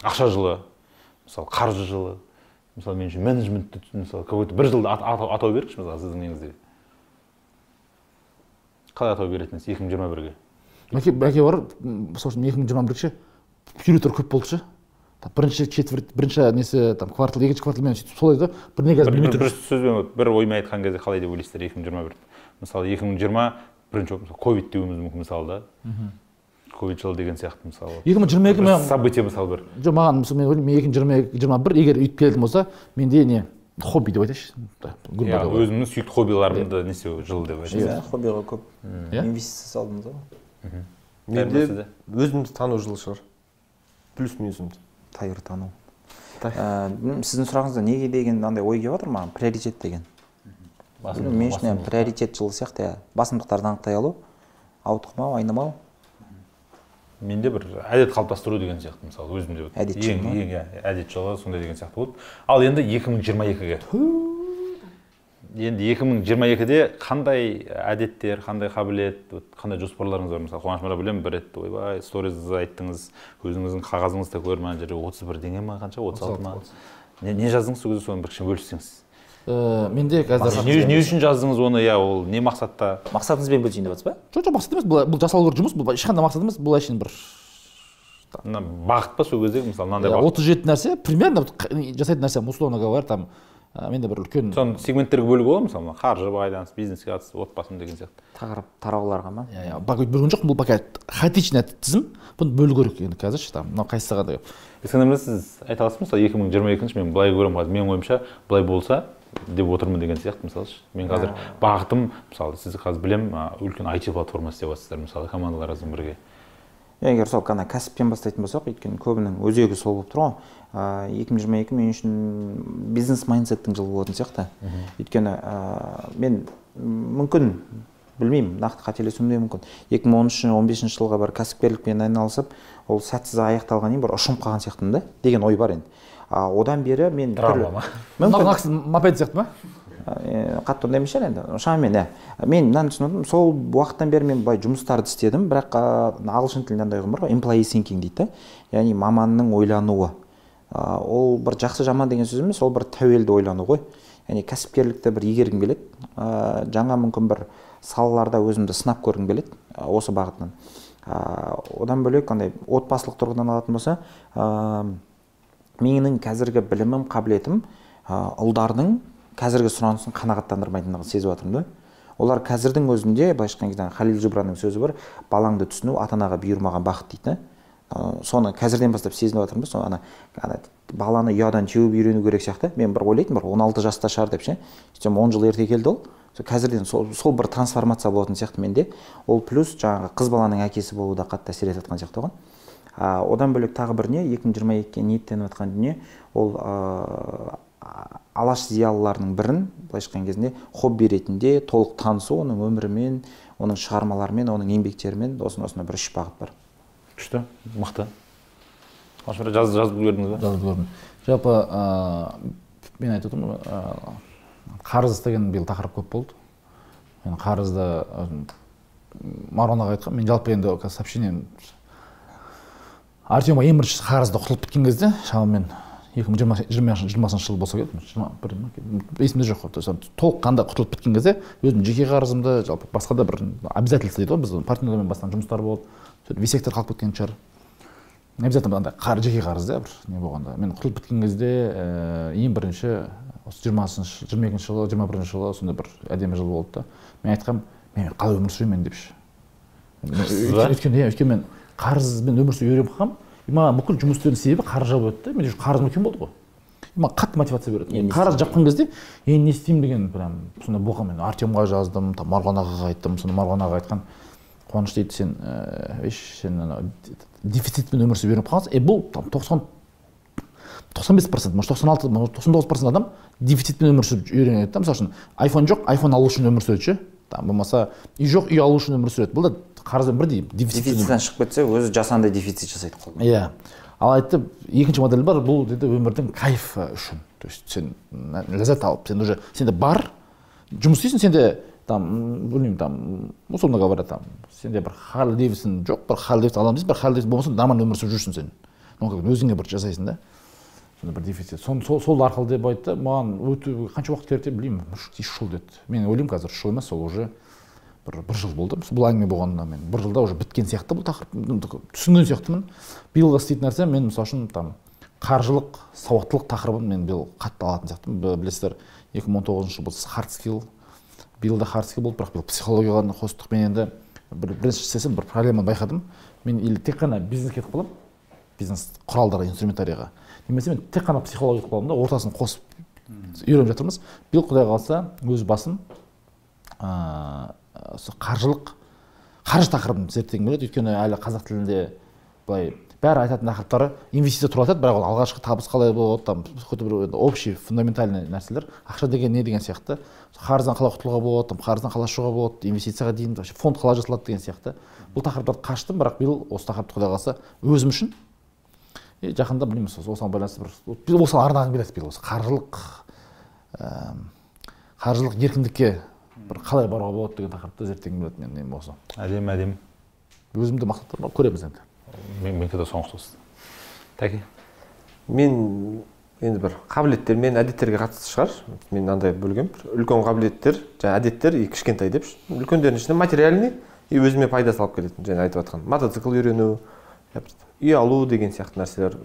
Ақша жылы, мысалы қаржы жылы. Мысалы, мен үшін менеджментті мысалы, какой-то бір жылды атау беріңізші, мысалы, сіздің неңізде. Қалай атау беретініз екі мың жиырма бірге? Бәке бар, мысалы, екі мың жиырма бірге күйретер көп болды ше. Бірінші четверть, бірінші несі, квартал, екінші кварталмен сөйтіп солай да, бір не қазір білмей тұр. Бір сөзбен, бір оймен айтқан кезде қалай деп ойлайсыздар екі мың жиырма бір? Мысалы, екі мың жиырма бірінші ковид деуіміз мүмкін мысалы да. Ковид жылы деген сияқты мысалы. екі мың жиырма екі мен событие мысалы бір. Жоқ, маған мысалы мен ойлаймын, екі мың жиырма екі жиырма бір егер үйтіп келетін болса, менде не хобби деп айтайыншы. Иә, өзімнің сүйікті хоббиларымды несеу жыл деп айтайын. Иә, хоббиға көп инвестиция салдыңыз ғой. Менде өзімді тану жылы шығар. плюс минусым тайыр тану. Сіздің сұрағыңызда неге деген андай ой келіп отыр маған, приоритет деген. Мен үшін приоритет жылы сияқты, басымдықтарды анықтай алу, ауытқымау, айнымау. Менде бір әдет қалыптастыру деген сияқты, мысалы өзімде әдет жолы әдет жолы сондай деген сияқты болды. Ал енді екі мың жиырма екіге. Енді екі мың жиырма екіде қандай әдеттер, қандай қабілет, қандай жоспарларыңыз бар? Мысалы Қуаныш мырза білемін, бір рет ойбай сторизді айттыңыз, өзіңіздің қағазыңызда көрдім, ана жерде отыз бір деген ма, қанша, отыз алты ма? Не, не жаздыңыз сол кезде, соны бір кішкене бөліссеңіз. Менде қазір не, не үшін жаздыңыз оны, я ол не мақсатта? Мақсатыңызбен бөлісейін деп жатсыз ба? Жоқ, жоқ, мақсат емес, бұл, бұл жасалу керек жұмыс, бұл ешқандай мақсат емес, бұл әшейін бір бағыт па сол кездегі, мысалы мынандай бағыт? отыз жеті нәрсе, примерно жасайтын нәрсе, условно говоря, там менде бір үлкен соны сегменттерге бөлуге болады, мысалы қаржы байланыс, бизнеске қатысты, отбасым деген сияқты. Тақырып тарауларға ма? Иә, иә, бөлген жоқ, бұл пока хаотичный тізім, бұны бөлу керек енді қазір, там, мынау қайсыға да. Ескендір мырза, сіз айта аласыз ба, мысалы екі мың жиырма екінші мен былай көремін, қазір менің ойымша былай болса деп отырмын деген сияқты, мысалы. Мен қазір бағытым, мысалы, сіз қазір білем, үлкен ай ти платформасы деп жатсыздар, мысалы, командаларыңызбен бірге. Егер сол қана кәсіппен бастайтын болсақ, өйткені көбінің өзегі сол болып тұр ғой. екі мың жиырма екі мен үшін бизнес майндсеттің жылы болатын сияқты. Өйткені мен мүмкін, білмеймін, нақты қателесуім де мүмкін. екі мың он үшінші он бесінші жылға бір кәсіпкерлікпен айналысып, ол сәтсіз аяқталған кейін бір ұшып қалған сияқтымын да, деген ой бар енді. Одан бері мен травма ма? Мопед сияқты ма? Қатты ондай емес шығар енді, шамамен, иә. Мен мынаны түсініп отырмын, сол уақыттан бері мен былай жұмыстарды істедім, бірақ ағылшын тілінде андай ұғым бар ғой, employee thinking дейді, яғни маманның ойлануы. Ол бір жақсы жаман деген сөз емес, ол бір тәуелді ойлану ғой. Яғни кәсіпкерлікті бір игергім келеді, жаңа мүмкін бір салаларда өзімді сынап көргім келеді осы бағытынан. Одан бөлек андай отбасылық тұрғыдан алатын болса, менің қазіргі білімім, қабілетім ұлдардың қазіргі сұранысын қанағаттандырмайтындығын сезіп жатырмын да. Олар қазірдің өзінде, былайша айтқан кезде Халил Жибранның сөзі бар, балаңды түсіну ата-анаға бұйырмаған бақыт дейді. Соны қазірден бастап сезініп жатырмын да, соны ана баланы ұядан теуіп үйрену керек сияқты. Мен бір ойлайтын бір он алты жаста шығар деп ше. Сөйтсем он жыл ерте келді ол. Қазірден сол, сол бір трансформация болатын сияқты менде. Ол плюс жаңағы қыз баланың әкесі болу да қатты әсер етіп жатқан сияқты оған. Одан бөлек тағы бір не, екі мың жиырма екіге ниеттеніп жатқан дүние, ол алаш зиялыларының бірін, былайша айтқан кезінде хобби ретінде толық танысу, оның өмірімен, оның шығармаларымен, оның еңбектерімен, осында бір үш бағыт бар. Күшті, мықты. Ашмыра жазып жазып көрдіңіз ба? Жазып көрдім. Жалпы мен айтып отырмын, қарыз деген биыл тақырып көп болды. Мен қарызды Марон аға айтқан, мен жалпы енді сообщением Артемға ең бірінші қарызды құтылып біткен кезде, шамамен екі мың жиырмасыншы жыл болса керек, есімде жоқ. Толыққанда құтылып біткен кезде өзім жеке қарызымды, жалпы басқа да бір обязательство дейді ғой, біз партнерлермен бастаған жұмыстар болды, весектор қалып кеткен шығар. Обязательно андай жеке қарыз да бір не болғанда. Мен құтылып біткен кезде ең бірінші осы жиырмасыншы, жиырма екінші жылы, жиырма бірінші жылы сондай бір әдемі жыл болды да. Мен айтқам, мен қалай өмір сүремін депші. Өйткені мен қарызбен өмір сүруге үйреніп қалғам. Маған бүкіл жұмыс істеудің себебі қарыз жауып өтті. Менде қарызым үлкен болды ғой. Маған қатты мотивация береді. Қарыз жапқан кезде, енді не істеймін деген прям сонда болған. Мен Артемға жаздым, Марғұлан ағаға айттым. Сонда Марғұлан аға айтқан, Қуаныш дейді, сен сен дефицитпен өмір сүріп үйреніп қалғансың. Е бұл тоқсан тоқсан бес процент, может тоқсан алты, тоқсан тоғыз процент адам дефицитпен өмір сүріп үйренеді. Мысалы үшін iPhone жоқ, iPhone алу үшін өмір сүреді ше. Болмаса үй жоқ, үй алу үшін өмір сүреді. Бұл да қарызбен бірдей дефициттен шығып кетсе, өзі жасанды дефицит жасайды қолдан. Иә. Ал айтты, екінші модель бар, бұл дейді өмірдің кайфы үшін. То есть сен ләззат алып, сен уже сенде бар, жұмыс істейсің, сенде там, білмеймін, там, условно говоря, там, сенде бір Харли Дэвидсон жоқ, бір Харли Дэвидсон аламын дейсің, бір Харли Дэвидсон болмаса нормально өмір сүріп жүрсің сен. Өзіңе бір жасайсың да. Сонда бір дефицит. Сол арқылы деп айтты, маған өте қанша уақыт керек деп білмеймін, үш жыл деді. Мен ойлаймын қазір үш жыл емес, сол уже бір жыл болды. Бұл әңгіме болғанда мен бір жылда уже біткен сияқты бұл тақырып, түсінген сияқтымын. Биылғы істейтін нәрсе мен мысалы үшін там қаржылық сауаттылық тақырыбын мен биыл қатты алатын сияқтымын. Білесіздер, екі мың он тоғызыншы жыл бұл hard skill, биылда hard skill болды, бірақ биыл психологияға қостық. Мен енді бірінші істесем бір проблеманы байқадым. Мен или тек қана бизнеске кетіп қаламын, бизнес құралдарға, инструментарияға. Немесе мен тек қана психология кетіп қаламын да, ортасын қосып үйреніп жатырмыз. Биыл Құдай қаласа өз басым қаржылық қаржы тақырыбын зерттегім келеді. Өйткені әлі қазақ тілінде былай бәрі айтатын тақырыптары инвестиция туралы айтады, бірақ ол алғашқы табыс қалай болады, там какой-то бір общий фундаментальный нәрселер, ақша деген не деген сияқты, қарыздан қалай құтылуға болады, там қарыздан қалай шығуға болады, инвестицияға дейін вообще фонд қалай жасалады деген сияқты. Бұл тақырыптарды қаштым, бірақ биыл осы тақырыпты құдай қаласа өзім үшін и жақында білмеймін, осыған байланысты бір осыған арнағым келеді биыл, осы қаржылық қаржылық еркіндікке бір қалай баруға болады деген тақырыпты зерттегім келеді мен осы. Әдемі, әдемі. Өзімде мақсаттар бар, көреміз енді. Менікі де соңғы сөз. Тәке? Мен енді бір қабілеттер мен әдеттерге қатысты шығар. Мен андай бөлгем. Үлкен қабілеттер, жаңа әдеттер и кішкентай деп. Үлкендердің ішінде материальный и өзіме пайда салып келетін. Жаңа айтып жатқан мотоцикл үйрену, үй алу деген сияқты нәрселер.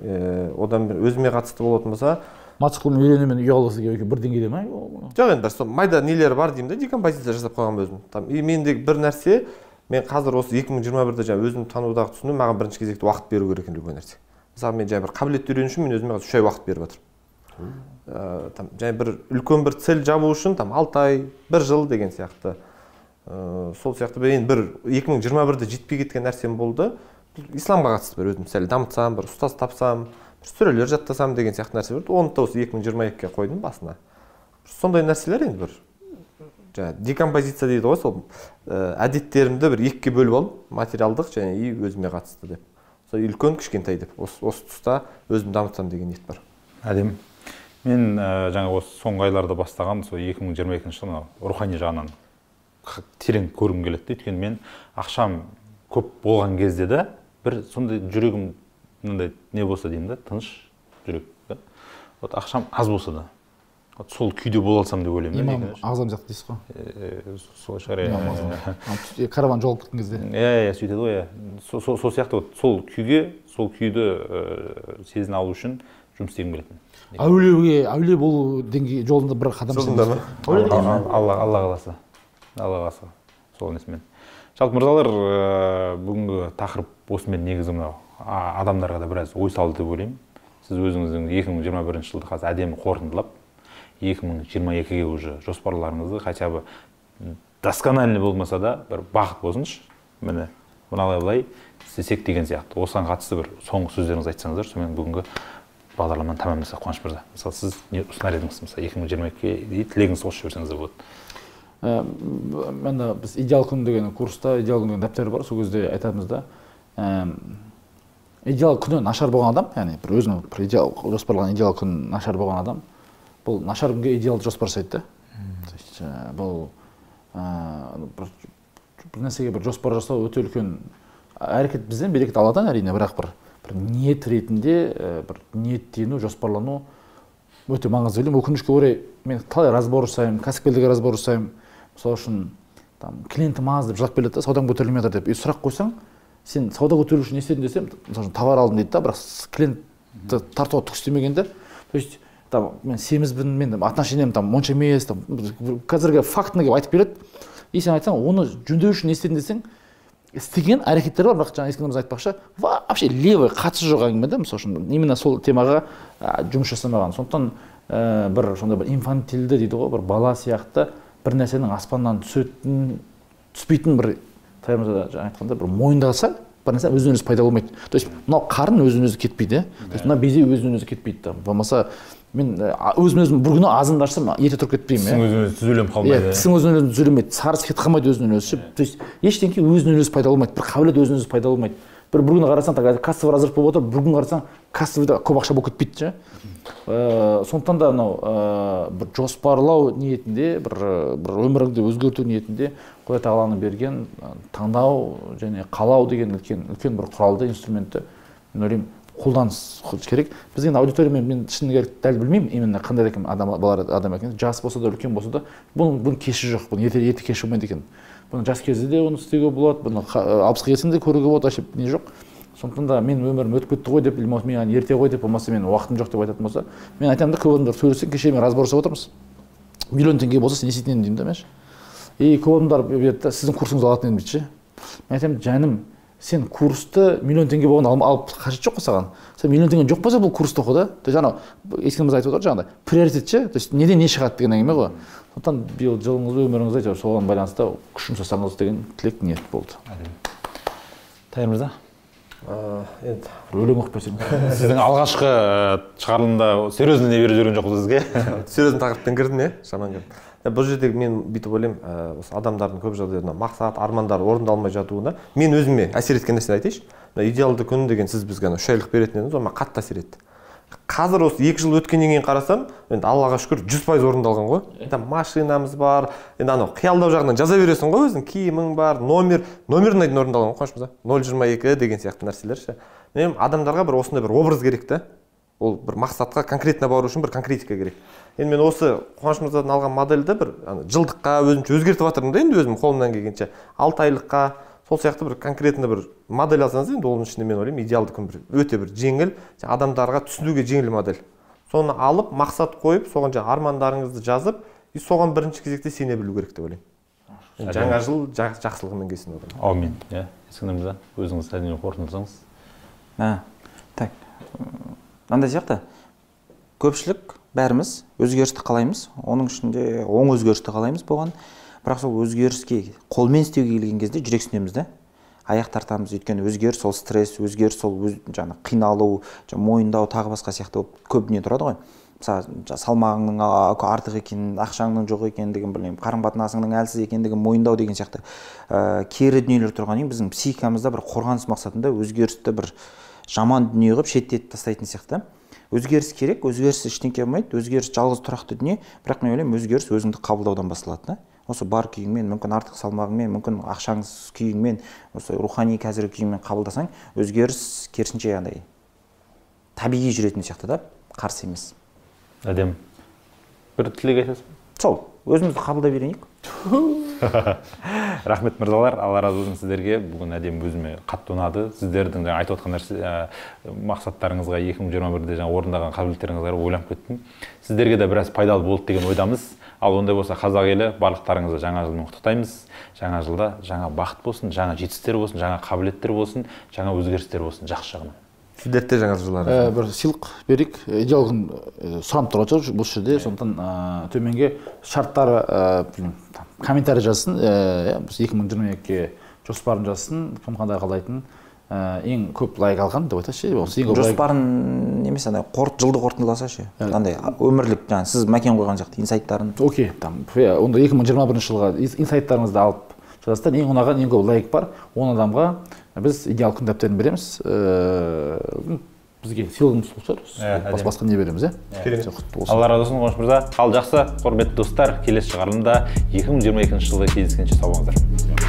Одан бір өзіме қатысты болатын болса, мотоциклмен үйрену мен үй алусы бір деңгейде ма? Жоқ, енді бір майда нелері бар деймін де, декомпозиция жасап қойған өзім. Там и мендегі бір нәрсе, мен қазір осы екі мың жиырма бірде жаңа өзімді танудағы түсіну, маған бірінші кезекте уақыт беру керек екендігі нәрсе. Мысалы мен жаңа бір қабілетті үйрену үшін мен өзіме үш ай уақыт беріп жатырмын. Там жаңа бір үлкен бір цель жабу үшін там алты ай, бір жыл деген сияқты. Сол сияқты мен бір екі мың жиырма бірде жетпей кеткен нәрсем болды. Исламға қатысты бір өзім сәл дамытсам, бір ұстаз тапсам, бір сүрелер жаттасам деген сияқты нәрсе болды. Оны да осы екі мың жиырма екіге қойдым басына. Сондай нәрселер енді бір жаңа декомпозиция дейді ғой, сол әдеттерімді бір екіге бөліп алдым, материалдық және и өзіме қатысты деп. Сол үлкен кішкентай деп осы тұста өзім дамытсам деген ниет бар. Әдемі. Мен жаңа осы соңғы айларда бастаған сол екі мың жиырма екінші жылы рухани жағынан терең көргім келеді. Өйткені мен ақшам көп болған кезде де бір сондай жүрегім мынандай не болса деймін да, тыныш жүрек. Вот ақшам аз болса да сол күйде бола алсам деп ойлаймын. Имам ағзам сияқты дейсіз ғой. Сол шығар. Караван жол кеткен кезде. Иә, иә, сөйтеді ғой. Сол сияқты сол күйге, сол күйді сезіне алу үшін жұмыс істегім келетін. Әулиеге, әулие болу деңгей жолында бір қадам жасадыңыз. Алла қаласа. Алла қаласа. Сол несімен. Жалпы мырзалар, бүгінгі тақырып осымен негізі мынау адамдарға да біраз ой салды деп ойлаймын. Сіз өзіңіздің екі мың жиырма бірінші жылды қазір әдемі қорытындылап, екі мың жиырма екіге уже жоспарларыңызды хотя бы доскональный болмаса да бір бағыт болсыншы. Міне, мыналай былай істесек деген сияқты. Осыған қатысты бір соңғы сөздеріңіз айтсаңыздар, сонымен бүгінгі бағдарламаны тәмамдасақ, Қуаныш мырза. Мысалы, сіз не ұсынар едіңіз, мысалы, екі мың жиырма екіге тілегіңізді қосып жіберсеңіз де болады. Мен біз идеал күн деген курста, идеал күн деген дәптер бар, сол кезде айтамыз да, идеал күні нашар болған адам, яғни бір өзінің бір идеал жоспарлаған идеал күн нашар болған адам, бұл нашар күнге идеалды жоспар жасайды да. Бұл бір нәрсеге бір жоспар жасау өте үлкен әрекет, бізден берекет Алладан әрине, бірақ бір бір ниет ретінде бір ниеттену, жоспарлану өте маңызды. Өкінішке орай мен талай разбор жасаймын, кәсіпкерлікке разбор жасаймын. Мысалы үшін там клиентім аз деп жылап келеді, саудаң көтерілмей жатыр деп сұрақ қойсаң, сен сауда көтерілу үшін не істедің десем, мысалы товар алдым дейді да, бірақ клиентті тартуға түк істемегенде, то есть там мен семізбін, мен отношением там онша емес, там қазіргі фактыны келіп айтып береді. И сен айтсаң, оны жөндеу үшін не істедің десең, істеген әрекеттер бар, бірақ жаңа ескендіміз айтпақшы, вообще левый қатысы жоқ әңгіме да, мысалы үшін именно сол темаға жұмыс жасамаған. Сондықтан бір сондай бір инфантильді дейді ғой, бір бала сияқты бір нәрсенің аспаннан түсетін, түспейтін бір таймызда жаңа айтқанда бір мойындаса, бір нәрсе өзінен өзі пайда болмайды. То есть мынау қарын өзінен өзі кетпейді, то есть мына безе өзінен өзі кетпейді. Болмаса мен өзім өзім бір күні азымды ашсам, ерте тұрып кетпеймін. Тісің өзінен өзі түзелем қалмайды. Тісің өзінен өзі түзелмейді, сарысы кетіп қалмайды өзінен өзі. То есть ештеңке өзінен өзі пайда болмайды, бір қабілет өзінен өзі пайда болмайды. Бір бір күні қарасаң, кассовый разрыв болып отыр, бір күні қарасаң, кассовыйда көп ақша болып кетпейді. Сондықтан да мынау бір жоспарлау ниетінде, бір өміріңді өзгерту ниетінде Құдай тағаланың берген таңдау және қалау деген үлкен үлкен бір құралды, инструментті мен ойлаймын қолданыс керек. Біз енді аудиториямен мен шыны керек дәл білмеймін, именно қандай екен адам балалар адам екен, жас болса да үлкен болса да, бұның бұның кеші жоқ, бұның ерте ерте кеш болмайды екен. Бұны жас кезде де оны істеуге болады, бұны алпысқа келсең де көруге болады, вообще не жоқ. Сондықтан да мен өмірім өтіп кетті ғой деп, мен ерте ғой деп, болмаса мен уақытым жоқ деп айтатын болса, мен айтамын да, көп адамдар сөйлесең, кеше мен разбор жасап отырмыз. Миллион теңге болса сен не істейтін деймін да, мәш. И көп адамдар береді, сіздің курсыңызды алатын едім дейді. Мен айтамын, жаным, сен курсты миллион теңге болған алып қажет жоқ қой саған. Сен миллион теңге жоқ болса бұл курсты оқы да. То есть анау ескендіміз айтып отыр жаңағыдай, приоритет ше, то есть неден не шығады деген әңгіме ғой. Сондықтан биыл жылыңызды, өміріңізді әйтеуір соған байланысты күш жұмсасаңыз деген тілек ниет болды. Тайыр мырза. енді бір өлең оқып берсең. Сіздің алғашқы шығарылымда серьезный не беріп жүрген жоқсыз бізге? серьезный тақырыптан кірдім, иә, жаман кірдім. Бұл жерде мен бүйтіп ойлаймын, осы адамдардың көп жағдайда мақсат, армандары орындалмай жатуына мен өзіме әсер еткен нәрсені айтайыншы. Идеалды күн деген сіз бізге үш айлық беретін едіңіз, оған қатты әсер етті. Қазір осы екі жыл өткеннен кейін қарасам, енді Аллаға шүкір жүз пайыз орындалған ғой. Енді машинамыз бар, енді анау қиялдау жағынан жаза бересің ғой, өзің киімің бар, номер, номерін айтын орындалған ғой, қуаныш мырза. нөл жиырма екі деген сияқты нәрселер ше. Мен адамдарға бір осындай бір образ керек та. Ол бір мақсатқа конкретно бару үшін бір конкретика керек. Енді мен осы Қуаныш мырзадан алған модельді бір жылдыққа өзімше өзгертіп жатырмын да, енді өзім қолымнан келгенше алты айлыққа сол сияқты бір конкретно бір модель алсаңыз, енді оның ішінде мен ойлаймын идеалды күн бір өте бір жеңіл, адамдарға түсінуге жеңіл модель. Соны алып, мақсат қойып, соған жаңа армандарыңызды жазып, и соған бірінші кезекте сене білу керек деп ойлаймын. Жаңа жыл жақсылығымен келсін одан. Аумин. Иә, Ескендір мырза, өзіңіз әдемі қорытындысаңыз. А, так. Мынандай сияқты. Көпшілік бәріміз өзгерісті қалаймыз. Оның ішінде оң өзгерісті қалаймыз болған. Бірақ сол өзгеріске қолмен істеуге келген кезде жүрексінеміз да. Аяқ тартамыз, өйткені өзгеріс сол стресс, өзгеріс сол жаңа қиналу, мойындау, тағы басқа сияқты көп дүние тұрады ғой. Мысалы, салмағыңның артық екенін, ақшаңның жоқ екендігін білмеймін, қарым-қатынасыңның әлсіз екендігін мойындау деген сияқты кері дүниелер тұрған кейін біздің психикамызда бір қорғаныс мақсатында өзгерісті бір жаман дүние қылып шеттетіп тастайтын сияқты. Өзгеріс керек, өзгеріс ештеңке болмайды, өзгеріс жалғыз тұрақты дүние, бірақ мен ойлаймын өзгеріс өзіңді қабылдаудан басталады да. Осы бар күйіңмен, мүмкін артық салмағыңмен, мүмкін ақшаңыз күйіңмен, осы рухани қазіргі күйіңмен қабылдасаң, өзгеріс керісінше андай табиғи жүретін сияқты да, қарсы емес. Әдем. Бір тілек айтасыз ба? Сол, өзімізді қабылдай берейік. Рахмет мырзалар, Алла разы болсын сіздерге. Бүгін әдем өзіме қатты ұнады. Сіздердің жаңа айтып отқан нәрсе мақсаттарыңызға екі мың жиырма бірде жаңа орындаған қабілеттеріңізге ойланып кеттім. Сіздерге де біраз пайдалы болды деген ойдамыз. Ал ондай болса қазақ елі барлықтарыңызды жаңа жылмен құттықтаймыз. Жаңа жылда жаңа бақыт болсын, жаңа жетістіктер болсын, жаңа қабілеттер болсын, жаңа өзгерістер болсын, жақсы жағынан. Сіздерде жаңа жылдары. Бір сыйлық берейік. Идеалын сұранып тұрған жоқ бұл жерде, сондықтан төменге шарттары комментарий жазсын. Біз екі мың жиырма екіге жоспарын жазсын, кім қандай қалайтын. Ең көп лайк алған деп айтасыз. Жоспарын немесе андай қорыт жылды қорытындыласашы. Андай өмірлік жаңа сіз мәкен қойған сияқты инсайттарын. Окей, там онда екі мың жиырма бірінші жылға инсайттарыңызды алып жазасыздар. Ең ұнаған, ең көп лайк бар. он адамға біз идеал күн дәптерін береміз. Бізге сыйлығымыз сол шығар. Басқа не береміз, иә? Алла разы болсын, Қуаныш мырза. Ал жақсы, құрметті достар, келесі шығарылымда екі мың жиырма екінші жылы кездескенше сау болыңыздар.